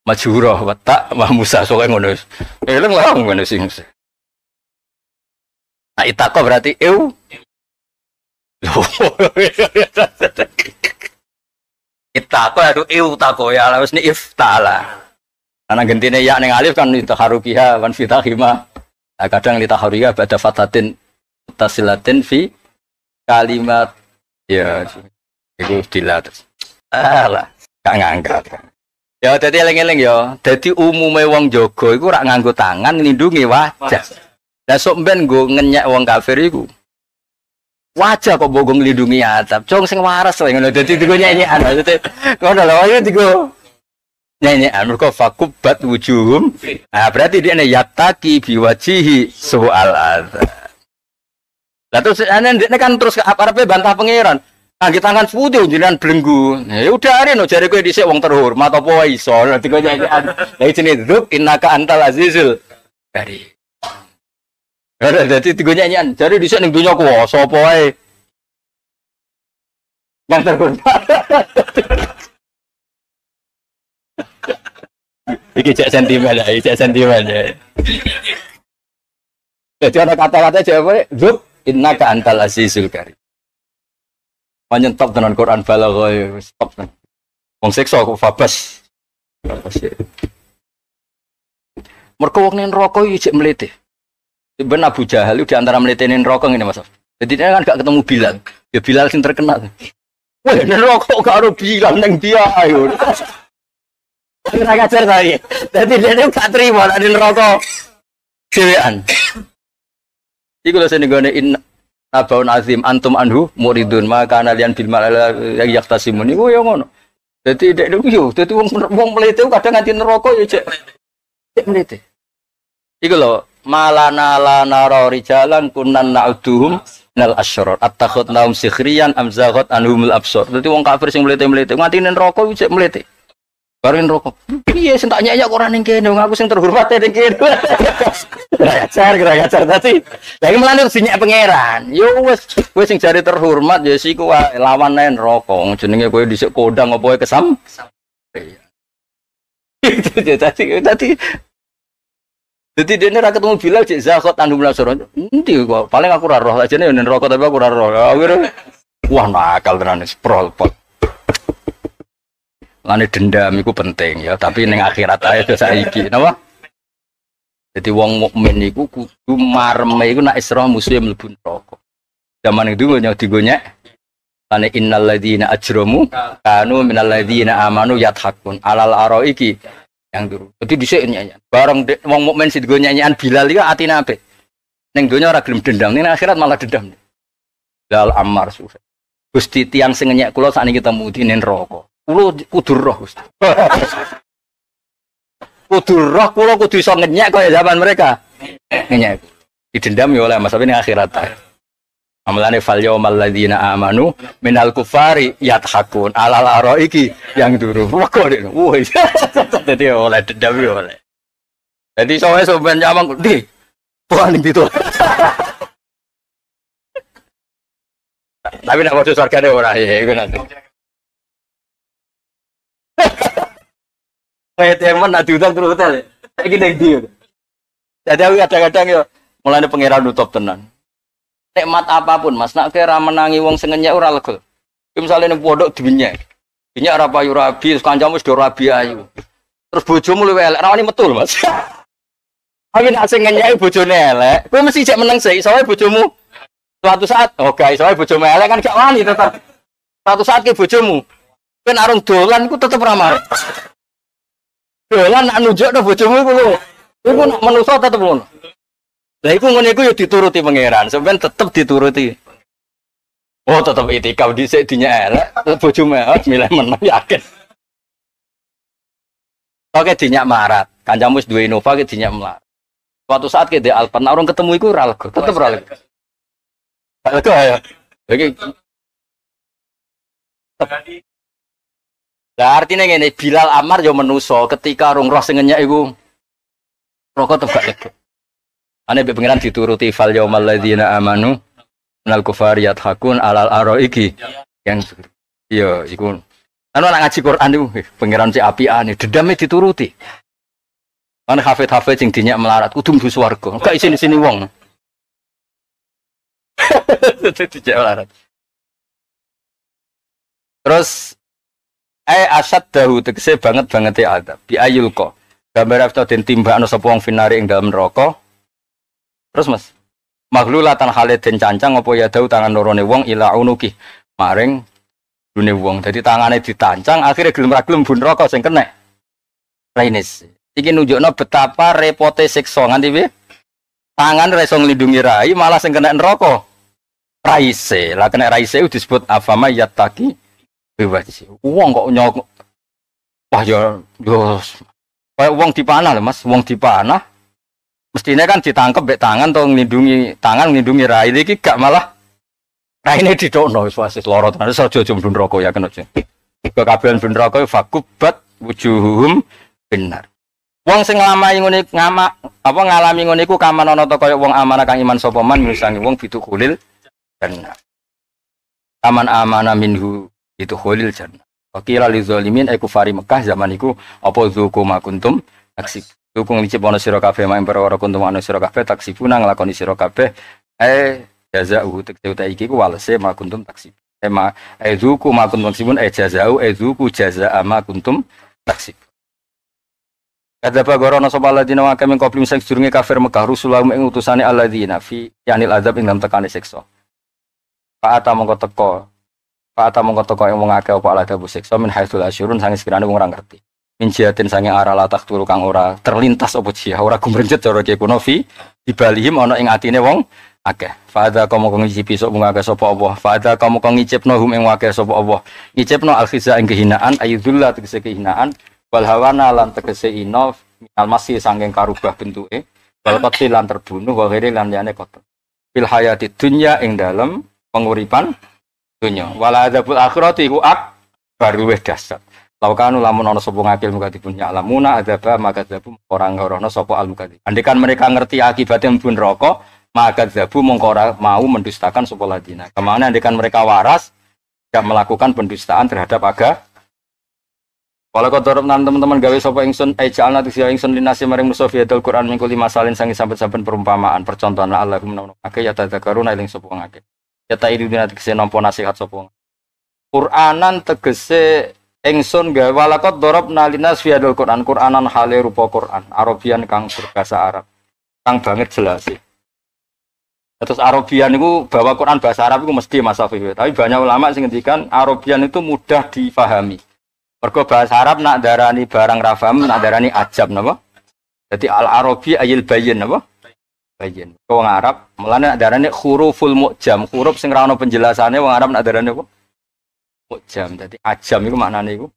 majhurah wa ta wa musa soke ngono. Eleng lah ngono sing. Nah itaqo berarti eu. Itaqo itu eu tako ya wis ni iftala. Ana gentine ya ning alif kan itaharukiha wan fitahima. Nah, kadang litaharukiha ba'da fatatin tasilatin fi kalimat ya iku dilat. Alah, gak ngangkat. Ya dadi eling-eling ya, dadi umume wong jaga iku ora nganggo tangan nglindungi wajah. Lah sok mben nggo ngenyek wong kafir iku. Wajah kok mbok nglindungi atap. Cung sing waras wae ngono. Dadi digo nyenyekan maksudnya. Ngono lho, ayo digo nyenyekan mergo fakubat wujuhum. Nah, berarti dia yataki biwajihi soal azab. Lah terus ana kan terus arepe bantah pangeran. Angge tangan putih jenengan blenggu. Ya udah are no jare kowe dhisik wong terhormat apa wae iso. Dadi kowe nyenyekan. Lah jenenge dzub innaka antal azizul karim. Ora dadi digo nyenyekan. Jare dhisik ning donya kuwasa apa wae. Yang terhormat. Iki cek sentimen ya, iki cek sentimen ya. Jadi ada kata-kata jawabnya dzub innaka antal azizul karim. Panjen top tenan Quran balaghah wis top tenan. Wong siksa kok fabas. Fabas. Mergo wong ning neraka iki jek mlete. Ben Abu Jahal di antara mlete ning neraka ngene Mas. Jadi dia kan gak ketemu Bilal. Ya Bilal sing terkenal. Wah, ning neraka gak ero Bilal ning dia ayo. Ora ngajar tadi. Dadi dia gak terima nek ning neraka dhewean. Iku lho sing nggone abaun azim antum anhu muridun maka kalian bil mal yang yaktasimun iku ya ngono. Dadi dek niku yo dadi wong wong mlete kadang nganti neraka ya cek cek mlete. Iku lho malana la nara rijalan kunnan na'uduhum nal asyrar attakhadnahum sikhriyan am zaghat anhumul absar. Dadi wong kafir sing mlete-mlete nganti neraka yo cek mlete. Bareng neraka. Piye sing tak nyek kok ora ning kene wong aku sing terhormat ning kene. Kurang ajar tadi. Lah iki mulane terus dinyek pangeran. Yo wis kowe sing jare terhormat ya siku wae lawan ae neraka. Wong jenenge kowe dhisik kondang apa wae kesam. Iya. Tadi dadi dene ra ketemu Bilal cek zakot anhum lasoro. Endi kok paling aku ora roh ajene yo neraka tapi aku ora roh. Akhire wah nakal tenan sprol pot. Lane dendam iku penting ya, tapi ning akhirat ae saiki, napa? Jadi wong mukmin iku kudu mareme iku nek isra musuhe mlebu neraka. Zaman itu nyonya digonyek. Lane innal ladzina ajramu kanu minal ladzina amanu yathakun alal araiki yang turu. Dadi dhisik nyanyian. Bareng wong mukmin sing digo nyanyian Bilal iku atine apik. Ning donya ora gelem dendam, ning akhirat malah dendam. Lal Ammar susah. Gusti tiyang sing ngenyek kula sakniki ketemu di ning neraka. Kulo kudu roh Gusti. Kudu roh kula kudu iso ngenyek kaya zaman mereka. Ngenyek. Didendam ya oleh Mas, tapi ning akhirat. Amalane fal yaumal ladzina amanu minal kufari yathakun alal araiki yang turu. Wah kok wah. Dadi oleh dendam ya oleh. Dadi sowe sampean nyamang ndi? Wah ning ditu. Tapi nek padha swargane ora ya iku nanti. Kayak teman nak diundang terus hotel. Saiki ning ndi? Dadi aku kadang-kadang yo mulane pangeran nutup tenan. Nikmat apapun Mas, nak kira menangi wong sing ngenyek ora lega. Ki misale ning pondok dinyek. Dinyek ora payu rabi, terus kancamu wis do rabi ayu. Terus bojomu luwih elek, rawani metu lho Mas. Tapi nek sing ngenyeki bojone elek, kowe mesti jek meneng sik, soalnya bojomu suatu saat, oh guys, soalnya bojomu elek kan gak wani tetep. Suatu saat ke bojomu, kowe nek arung dolan iku tetep ra marek. Dolan nak nunjukno bojomu iku lho. Iku nak manusa tetep ngono. Lah iku ngene iku ya dituruti pangeran, sampean tetep dituruti. Oh, tetep itikaf dhisik dinyek elek, bojomu elek milih meneng yakin. Oke dinyak marat, kancamu wis duwe Innova ke dinyak melarat. Suatu saat ke di Alphard, nah orang ketemu iku ora lega, tetep ora lega. Gak lega ya. Iki lah artinya ngene, Bilal Ammar yo menuso ketika rung roh sing ngenyek iku rokok tetep gak lega. Ane mbek pangeran dituruti fal yaumal ladzina amanu minal kufari yathakun alal araiki yang iya iku. Anu nak ngaji Quran iku pangeran cek apiane, dendame dituruti. Kan hafid-hafid sing dinyak melarat kudu mlebu swarga. Gak isin-isini wong. Dinyak melarat. Terus asad dahu tegese banget-bangete adab bi ayulqa. Gambar afta den timbakno sapa wong finari ing dalem neraka. Terus Mas, maghlulatan hale den cancang apa ya dahu tangan lorone wong ila unuki maring dune wong. Dadi tangane ditancang akhirnya gelem ra gelem bun neraka sing kena. Rainis. Iki nunjukno betapa repote siksa nganti piye? Tangan ra iso nglindungi rai malah sing kena neraka. Raise. Lah kena raise itu disebut afama yattaqi biwajhi. Wong kok nyok wah ya yo kaya wong dipanah lho Mas, wong dipanah mestine kan ditangkep mbek tangan to nglindungi tangan nglindungi rai iki gak malah raine didokno wis wasis lara tenan wis aja mlebu neraka ya kena. Kekabehan mlebu neraka fakubat wujuhum benar. Wong sing nglamai ngene ngama apa ngalami ngene iku kaman ana ta kaya wong amanah kang iman sapa man misangi wong bidukhulil jannah. Kaman amana minhu bidukhulil jannah. Wa qila lizalimin ay kufari Mekah zaman iku apa dzuku ma kuntum taksib. Dzuku nglicip ana sira kabeh mak perkara kuntum ana sira kabeh taksibuna nglakoni sira kabeh jazau tegese uta iki ku walese ma kuntum taksib. Ma dzuku ma kuntum taksibun jazau dzuku jazaa ma kuntum taksib. Kadzaba gorono sapa alladzina wa kami qablim sing sedurunge kafir Mekah rusulahum ing utusane alladzina fi yanil azab ing dalem tekane siksa. Fa'ata mongko teko ing wong akeh apa aladabu siksa min haitsul asyurun sange sekirane wong ora ngerti. Min jihatin sange arah latak turu kang ora terlintas apa jihah ora gumrenjet cara ki kuno fi dibalihim ana ing atine wong akeh. Fa'adha kamu kang ngicipi sapa wong akeh sapa Allah. Fa'adha kamu kang ngicipno hum ing akeh sapa Allah. Ngicipno al-khiza ing kehinaan ayyudzullah tegese kehinaan wal hawana lan tegese ina minal masih sangking karubah bentuke wal qatli lan terbunuh wa ghairi lan liyane qatl fil hayati dunya ing dalem penguripan dunya wal adzabul akhirati iku akbar luwih dahsyat laukanu lamun ana sapa ngakil mukadzibun ya'lamuna adzaba maka adzabu ora ngorono sapa al mukadzib andekan mereka ngerti akibatnya mlebu neraka maka adzabu mongko ora mau mendustakan sapa ladina kemana andekan mereka waras tidak melakukan pendustaan terhadap agama. Walau kau dorong teman-teman gawe sapa ingsun jalna tisya ingsun linasi maring musa fi hadal Quran mingkul lima salin sangi sampe-sampe perumpamaan percontohan la allahum menawa akeh ya tadzakaruna eling sapa wong akeh ya ta iduna tegese nampa nasihat sapa wong Quranan tegese ingsun gawe walakot dorobna linas fi hadal Quran Quranan hale rupa Quran Arabian kang berbahasa Arab kang banget jelas. Terus Arabian itu bahwa Quran bahasa Arab itu mesti Mas Afif, tapi banyak ulama sing ngendikan Arabian itu mudah difahami. Mergo bahasa Arab nak darani barang rafam, nak darani ajab napa? Dadi al-Arabi ayil bayyin napa? Bayyin. Wong Arab mulane nak darani huruful mu'jam, huruf sing ra ono penjelasane wong Arab nak darani apa? Mu'jam. Dadi ajam iku maknane iku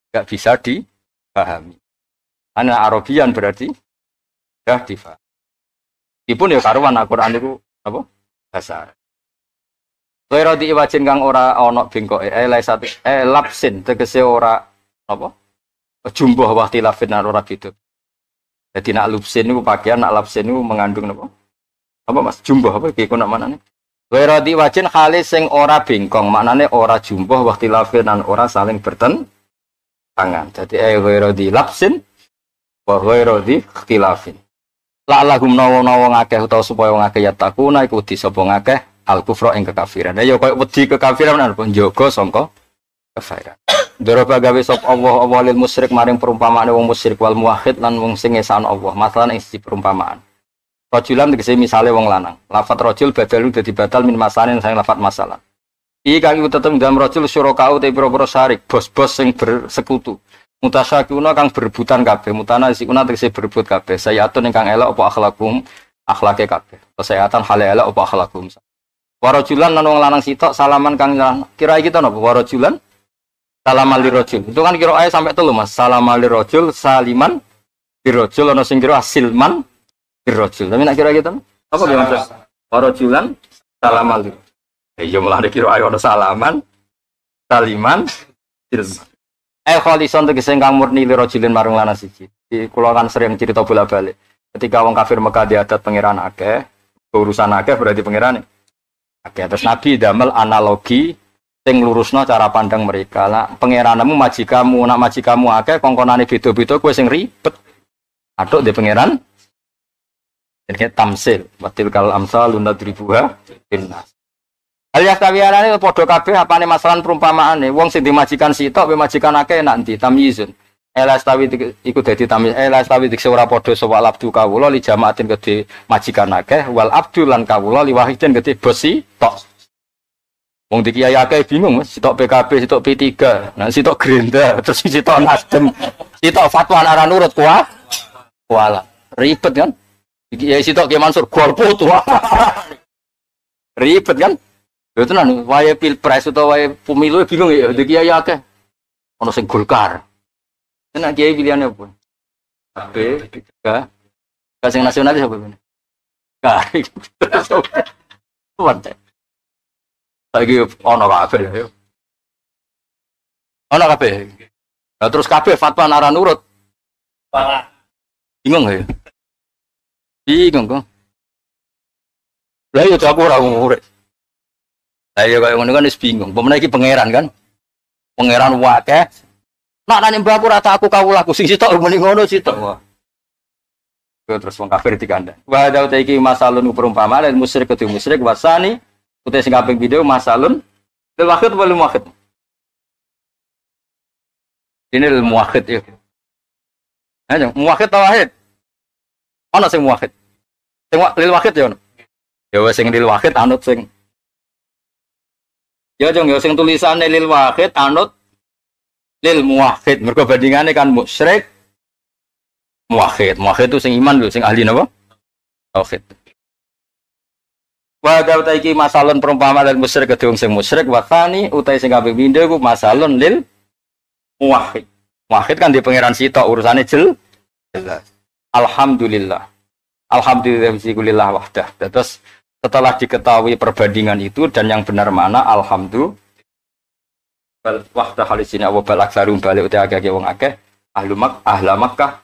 gak bisa dipahami. Ana Arabian berarti sudah difahami. Ipun ya karuan Al-Qur'an iku apa? Bahasa Arab. Wira diiwajin kang ora ana bengkoke lapsin tegese ora apa jumbuh wahti lafin ora beda. Dadi nak lupsin niku pakaian, nak lapsin niku mengandung napa? Apa Mas? Jumbuh apa iki nak maknane? Wira diiwajin khali sing ora bengkong, maknane ora jumbuh wahti lafin lan ora saling bertentangan. Dadi wira di lapsin wa wira di ikhtilafin. La lahum nawa-nawa ngakeh utawa supaya wong akeh ya takuna iku di sapa ngakeh al kufra ing kekafiran. Ya koyo wedi kekafiran napa njaga sangka kafiran. Daraba gawe sapa Allah Allah lil musyrik maring perumpamaane wong musyrik wal muwahhid lan wong sing ngesakno Allah. Masalan ing siji perumpamaan. Rajulan tegese misale wong lanang. Lafat rajul badalu dadi batal min masalan sang lafat masalah. Iki kang iku tetep dalam rajul syurakau te pira-pira syarik, bos-bos sing bersekutu. Mutasyakuna kang berebutan kabeh, mutana sikuna tegese berebut kabeh. Sayatun ingkang elek apa akhlakum, akhlake kabeh. Kesehatan hale elek apa akhlakum. Warajulan lan wong lanang sitok salaman kang kira iki to napa warajulan Salaman lirojul. Itu kan kira sampai telu Mas. Salaman lirojul, saliman lirojul ana sing kira silman lirojul. Tapi nak kira gitu apa gimana Mas? Warojulan salaman lirojul. Ya malah kira ana salaman, saliman, silman. Kholison tegese ingkang murni lirojulin marang lanang siji. Kula kan sering cerita bola-balik. Ketika wong kafir Mekah diadat pangeran akeh, urusan akeh berarti pangeran akeh. Terus Nabi damel analogi sing lurusno cara pandang mereka. Lah pangeranmu majikamu, nak majikamu akeh kongkonane beda-beda kowe sing ribet. Atuk di pangeran. Jenenge tamsil, watil kal amsal lunadribuha linnas. Hal yastawiyanane padha kabeh apane masalan perumpamaane wong sing dimajikan sitok be majikan akeh enak ndi tamyizun. Ela stawi iku dadi tamyiz, ela stawi dikse ora padha sapa abdu kawula li jamaatin kedhe majikan akeh wal abdu lan kawula li wahidin kedhe bos sitok. Wong di kiai akeh bingung, Mas, sitok PKB, sitok P3, nah sitok Gerindra, terus sitok Nasdem, sitok fatwa ora nurut kuah. Kuala. Ribet kan? Kiai sitok Ki Mansur golput wah. Ribet kan? Lha tenan wayahe pilpres utawa wayahe pemilu bingung ya di kiai akeh. Ono sing Golkar. Tenan kiai pilihane apa? B, K. K sing nasionalis apa ini? K. Kuat. Lagi ono kabeh ya. Ono kabeh. Lah terus kabeh fatwa ora nurut. Bingung ya. Bingung kok. Lah ya aku ora ngurek. Lah ya kaya ngono kan wis bingung. Pemene iki pangeran kan? Pangeran wakeh. Nak nanya mbah aku rata aku kawulaku sing sitok muni ngono sitok. Wah. Terus wong kafir dikandani. Wa hadza iki masalun perumpamaan lil musyrik kudu musyrik wasani utai sing kaping pindho masalun lil wahid wal muwahhid. Ini lil muwahhid ya. Ayo muwahhid ta wahid? Ana sing muwahhid. Sing lil wahid ya ono. Ya wis sing lil wahid anut sing ya jong ya sing tulisane lil wahid anut lil muwahhid. Mergo bandingane kan musyrik muwahhid. Muwahhid itu sing iman lho, sing ahli napa? Tauhid. Wa hadza iki masalun perumpamaan lil musyrik kedhe wong sing musyrik wa tsani utai sing kaping pindho iku masalun lil muwahhid. Muwahhid kan di pangeran sitok urusane jelas. Alhamdulillah. Alhamdulillah wahdah. Terus setelah diketahui perbandingan itu dan yang benar mana alhamdulillah bal wahdah halisina wa bal aktsarum balik uti akeh wong akeh ahlu mak ahla Makkah.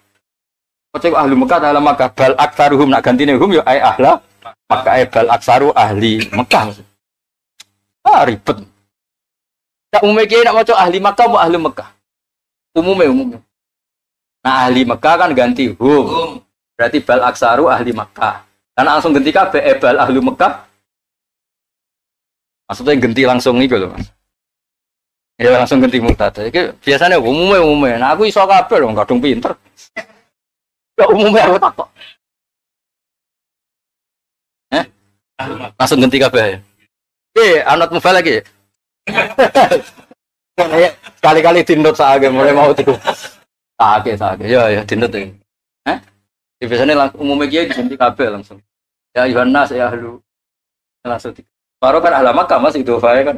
Oce ahlu Makkah ahla Makkah bal aktsaruhum nak gantine hum ya ai ahla Makkah ai bal aktsaru ahli Makkah. Ah ribet. Tak umume ki nak maca ahli Makkah apa ahlu Makkah? Umume. Nah ahli Makkah kan ganti hum. Berarti bal aktsaru ahli Makkah. Karena langsung ganti kabeh bal ahlu Mekah. Maksudnya ganti langsung iku lho, Mas. Ya langsung ganti mubtada. Iki biasanya umume. Nah aku iso kabeh lho, kadung pinter. Ya umume aku takok. Langsung ganti kabeh. Oke, anut mubal lagi. Sekali-kali dinut saake mulai mau tiku. Saake. Ya dinut iki. Hah? Biasanya langsung umumnya kiai diganti kabeh langsung. Ya Yohanes ya ahlu langsung. Baru kan ahla Makkah Mas itu fae kan.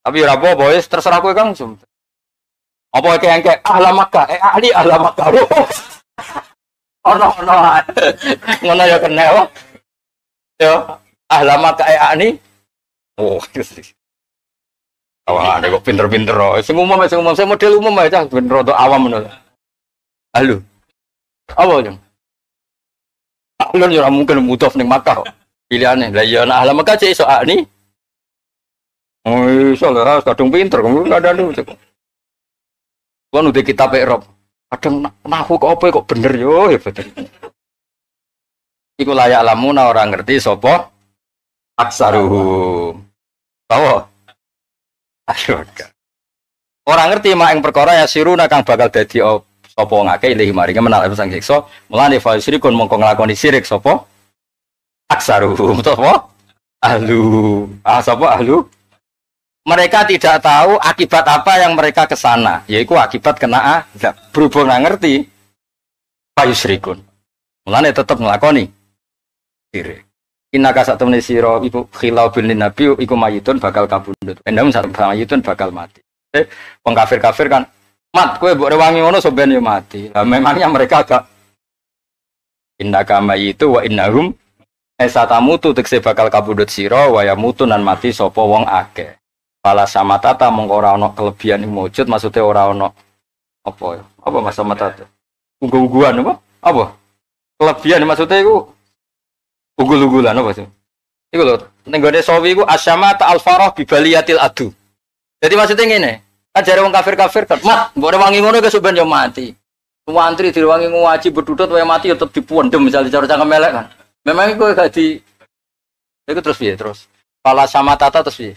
Tapi ora apa-apa wis terserah kowe Kang. Apa iki engke ahla Makkah, ahli ahla Makkah. Ono. Ngono ya kena kok. Yo ahla Makkah ahli. Oh. Awalane kok pinter-pinter. Sing umum sing model umum aja ben rada awam ngono. Halo. Apa jeng? Alun ya ora mungkin mudhof ning Makkah kok. Pilihane. Lah ya nek ahli Makkah cek iso akni. Oh iso lah kadung pinter kadang cukup. Kuwi udah kitab I'rab. Kadang nahu kok apa kok bener yo ya bener. Iku layak lamuna ora ngerti sapa aksaruhum. Tahu? Ayo. Ora ngerti mak ing perkara ya siruna kang bakal dadi sapa wong akeh ilahi maringe menal sang siksa mulane fa syirikun mongko nglakoni syirik sapa aksaruhum sapa ahlu sapa ahlu. Mereka tidak tahu akibat apa yang mereka kesana, yaitu akibat kena azab. Berhubung nggak ngerti fa yusyrikun mulane tetep nglakoni syirik. Innaka satemene sira iku khilau bin nabi iku mayitun bakal kabundut. Endam sak mayitun bakal mati. Wong kafir-kafir kan mat kowe mbok rewangi ngono sampeyan yo mati. Lah memangnya mereka agak innaka mayitu wa innahum esatamutu tekse bakal kabudut sira wa yamutu nan mati sapa wong akeh. Fala samatata mongko ora ana kelebihan ing wujud, maksudnya ora ana apa ya? Apa mas samatata? Unggul-unggulan apa? Apa? Kelebihan maksudnya iku unggul-unggulan apa sih? Iku lho, ning gone sawi iku asyamata al-farah bi baliyatil adu. Jadi maksudnya ngene, kan jare wong kafir-kafir kan, mat, mbok rewangi ngono kesuk ben yo mati. Wantri direwangi ngaji bedudut wae mati yo tetep dipuendem misalnya cara cangkem elek kan. Memang iku gak di iku terus piye terus? Fala samatata terus piye?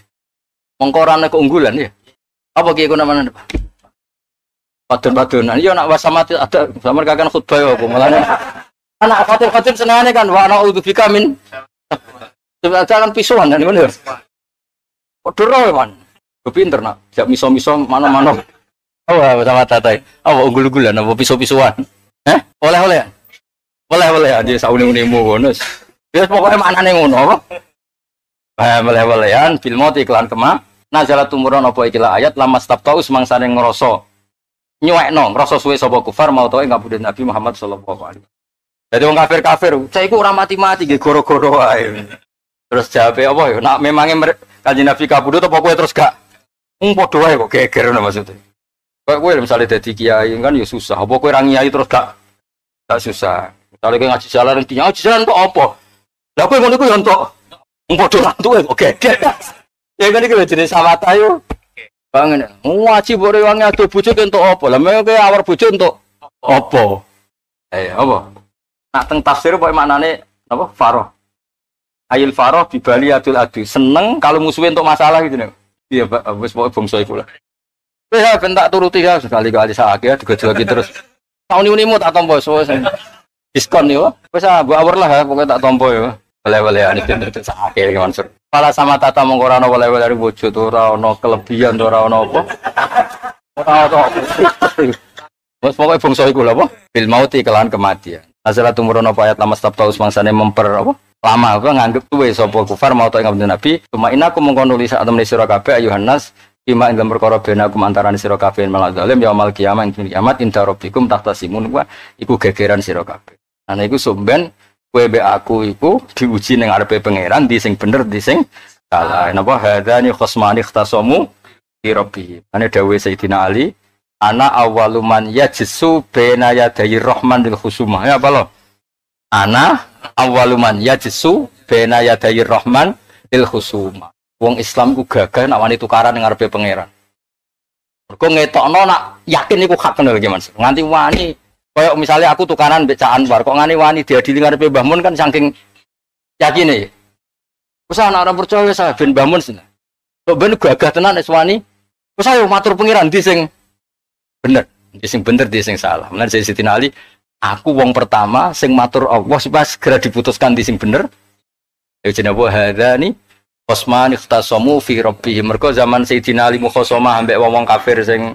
Mongko ora ana keunggulan ya. Apa ki iku namane? Padon-padonan. Iya nak wasamati ada sampeyan kakan khutbah ya apa mulane. Anak khatib-khatib senengane kan wa na'udzubika min kan pisuan kan ngono ya. Padha roe man. Pinter nak, jak miso-miso mana-mana. Oh, sama tatai. Apa unggul-unggulan apa piso-pisuan? Heh? Oleh-olehan. Oleh-olehan dia saune-unemu ngono. Wis pokoke maknane ngono apa? Oleh-olehan bil mauti iklan kema. Nazala tumurun apa ikilah ayat lama stabtau semangsane ngrasa nyuwekno, ngrasa suwe sapa kufar mau tau ngabudut Nabi Muhammad sallallahu alaihi wasallam. Dadi wong kafir-kafir, cah iku ora mati-mati nggih goro-goro wae. Terus jawabe apa ya? Nak memange Kanjeng Nabi kabudut apa kowe terus gak padha wae kok geger ngono maksudnya. Kayak kowe misale dadi kiai kan ya susah. Apa kowe ra ngiyai terus gak susah. Misale kowe ngaji jalan ngaji jalan kok apa? Lah kowe ngono iku ya entuk. Padha ra entuke kok geger. Ya kan iki lho jenenge sawata yo. Bangen. Ngaji mbok rewangi ado bojo entuk apa? Lah kowe awar bojo entuk apa? Apa? Nak teng tafsir pokoke maknane napa? Faroh. Ayil faroh bibaliyatul adu. Seneng kalau musuhe entuk masalah gitu nek. Iya, Pak, wis pokoke bangsa iku lah. Wis ya ben tak turuti ya sekali-kali sakake digojloki terus. Sauni-unimu tak tampa wis. Diskon yo. Wis ah mbok awur lah pokoke tak tampa yo. Oleh-olehan iki terus sakake iki Mansur. Fala sama tata mongko ora ana oleh-oleh wujud ora ana kelebihan ora ana apa. Ora ana. Wis pokoke bangsa iku lho apa? Bil mauti kelawan kematian. Azala tumurun apa ayat lama stabta usmangsane memper apa? Lama apa nganggep tuwe sapa kufar mau ta ing Nabi. Cuma inaku mongko nulis sak temene sira kabeh ayuhan nas bima ing dalem perkara bena kum antarané sira kabeh malah zalim yaumul kiamah ing kiamat inda rabbikum tahtasimun wa iku gegeran sira kabeh. Ana iku somben kowe mbek aku iku diuji ning ngarepe pangeran di sing bener di sing salah. Napa hadzani khosmani ikhtasamu fi rabbihim. Ane dawuhe Sayyidina Ali, ana awwalu man yajsu baina yadayi rahman lil khusumah. Ya apa lo? Ana awwalu man yajsu baina yadayi rahman lil khusumah. Wong Islam ku gagah nek wani tukaran ning ngarepe pangeran. Mergo ngetokno nak yakin iku hak ngono lho Mas. Nganti wani koyo misalnya aku tukaran mbek Cak Anwar kok ngani wani diadili ngarepe Mbah Mun kan saking yakine. Wis ana ora percaya wis ben Mbah Mun seneng. Kok ben gagah tenan wis wani. Wis ayo matur pangeran ndi sing bener, ndi sing bener ndi sing salah. Mulane Sayyidina Ali, aku wong pertama sing matur Allah supaya segera diputuskan ndi sing bener. Ya jenenge apa hadzani khosman ikhtasamu fi rabbihim. Mergo zaman Sayyidina Ali mukhosomah ambek wong-wong kafir sing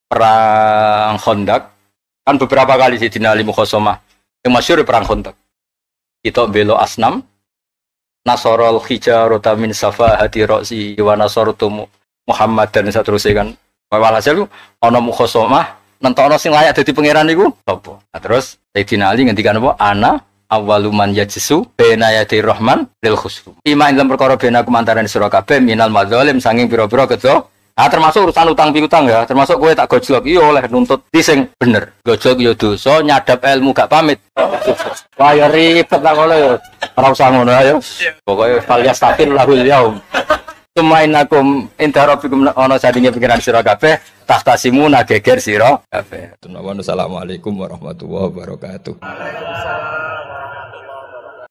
perang Khandaq. Kan beberapa kali Sayyidina Ali mukhosomah. Yang masyhur perang Khandaq. Kita belo asnam nasarul hijarata min safahati ra'si wa nasartu Muhammad dan saterusé kan. Walhasil ana mukhosomah nentokno sing layak dadi pangeran niku sapa. Nah, terus Sayyidina Ali ngendikan apa? Ana awwalu man yajsu baina yaday rahman lil khusum. Ima ing dalem perkara bena kumantarane sira kabeh minal madzalim sanging pira-pira kedo. Nah, termasuk urusan utang piutang ya, termasuk kowe tak gojlok iya oleh nuntut di sing bener. Gojlok ya dosa, nyadap ilmu gak pamit. Wah ya ribet lah ngono ya. Ora usah ngono ayo. Pokoke fal yastaqil lahul yaum. Tumainakum inda rabbikum ana sadinge pikiran sira kabeh tahtasimuna geger sira kabeh. Assalamualaikum warahmatullahi wabarakatuh. Waalaikumsalam.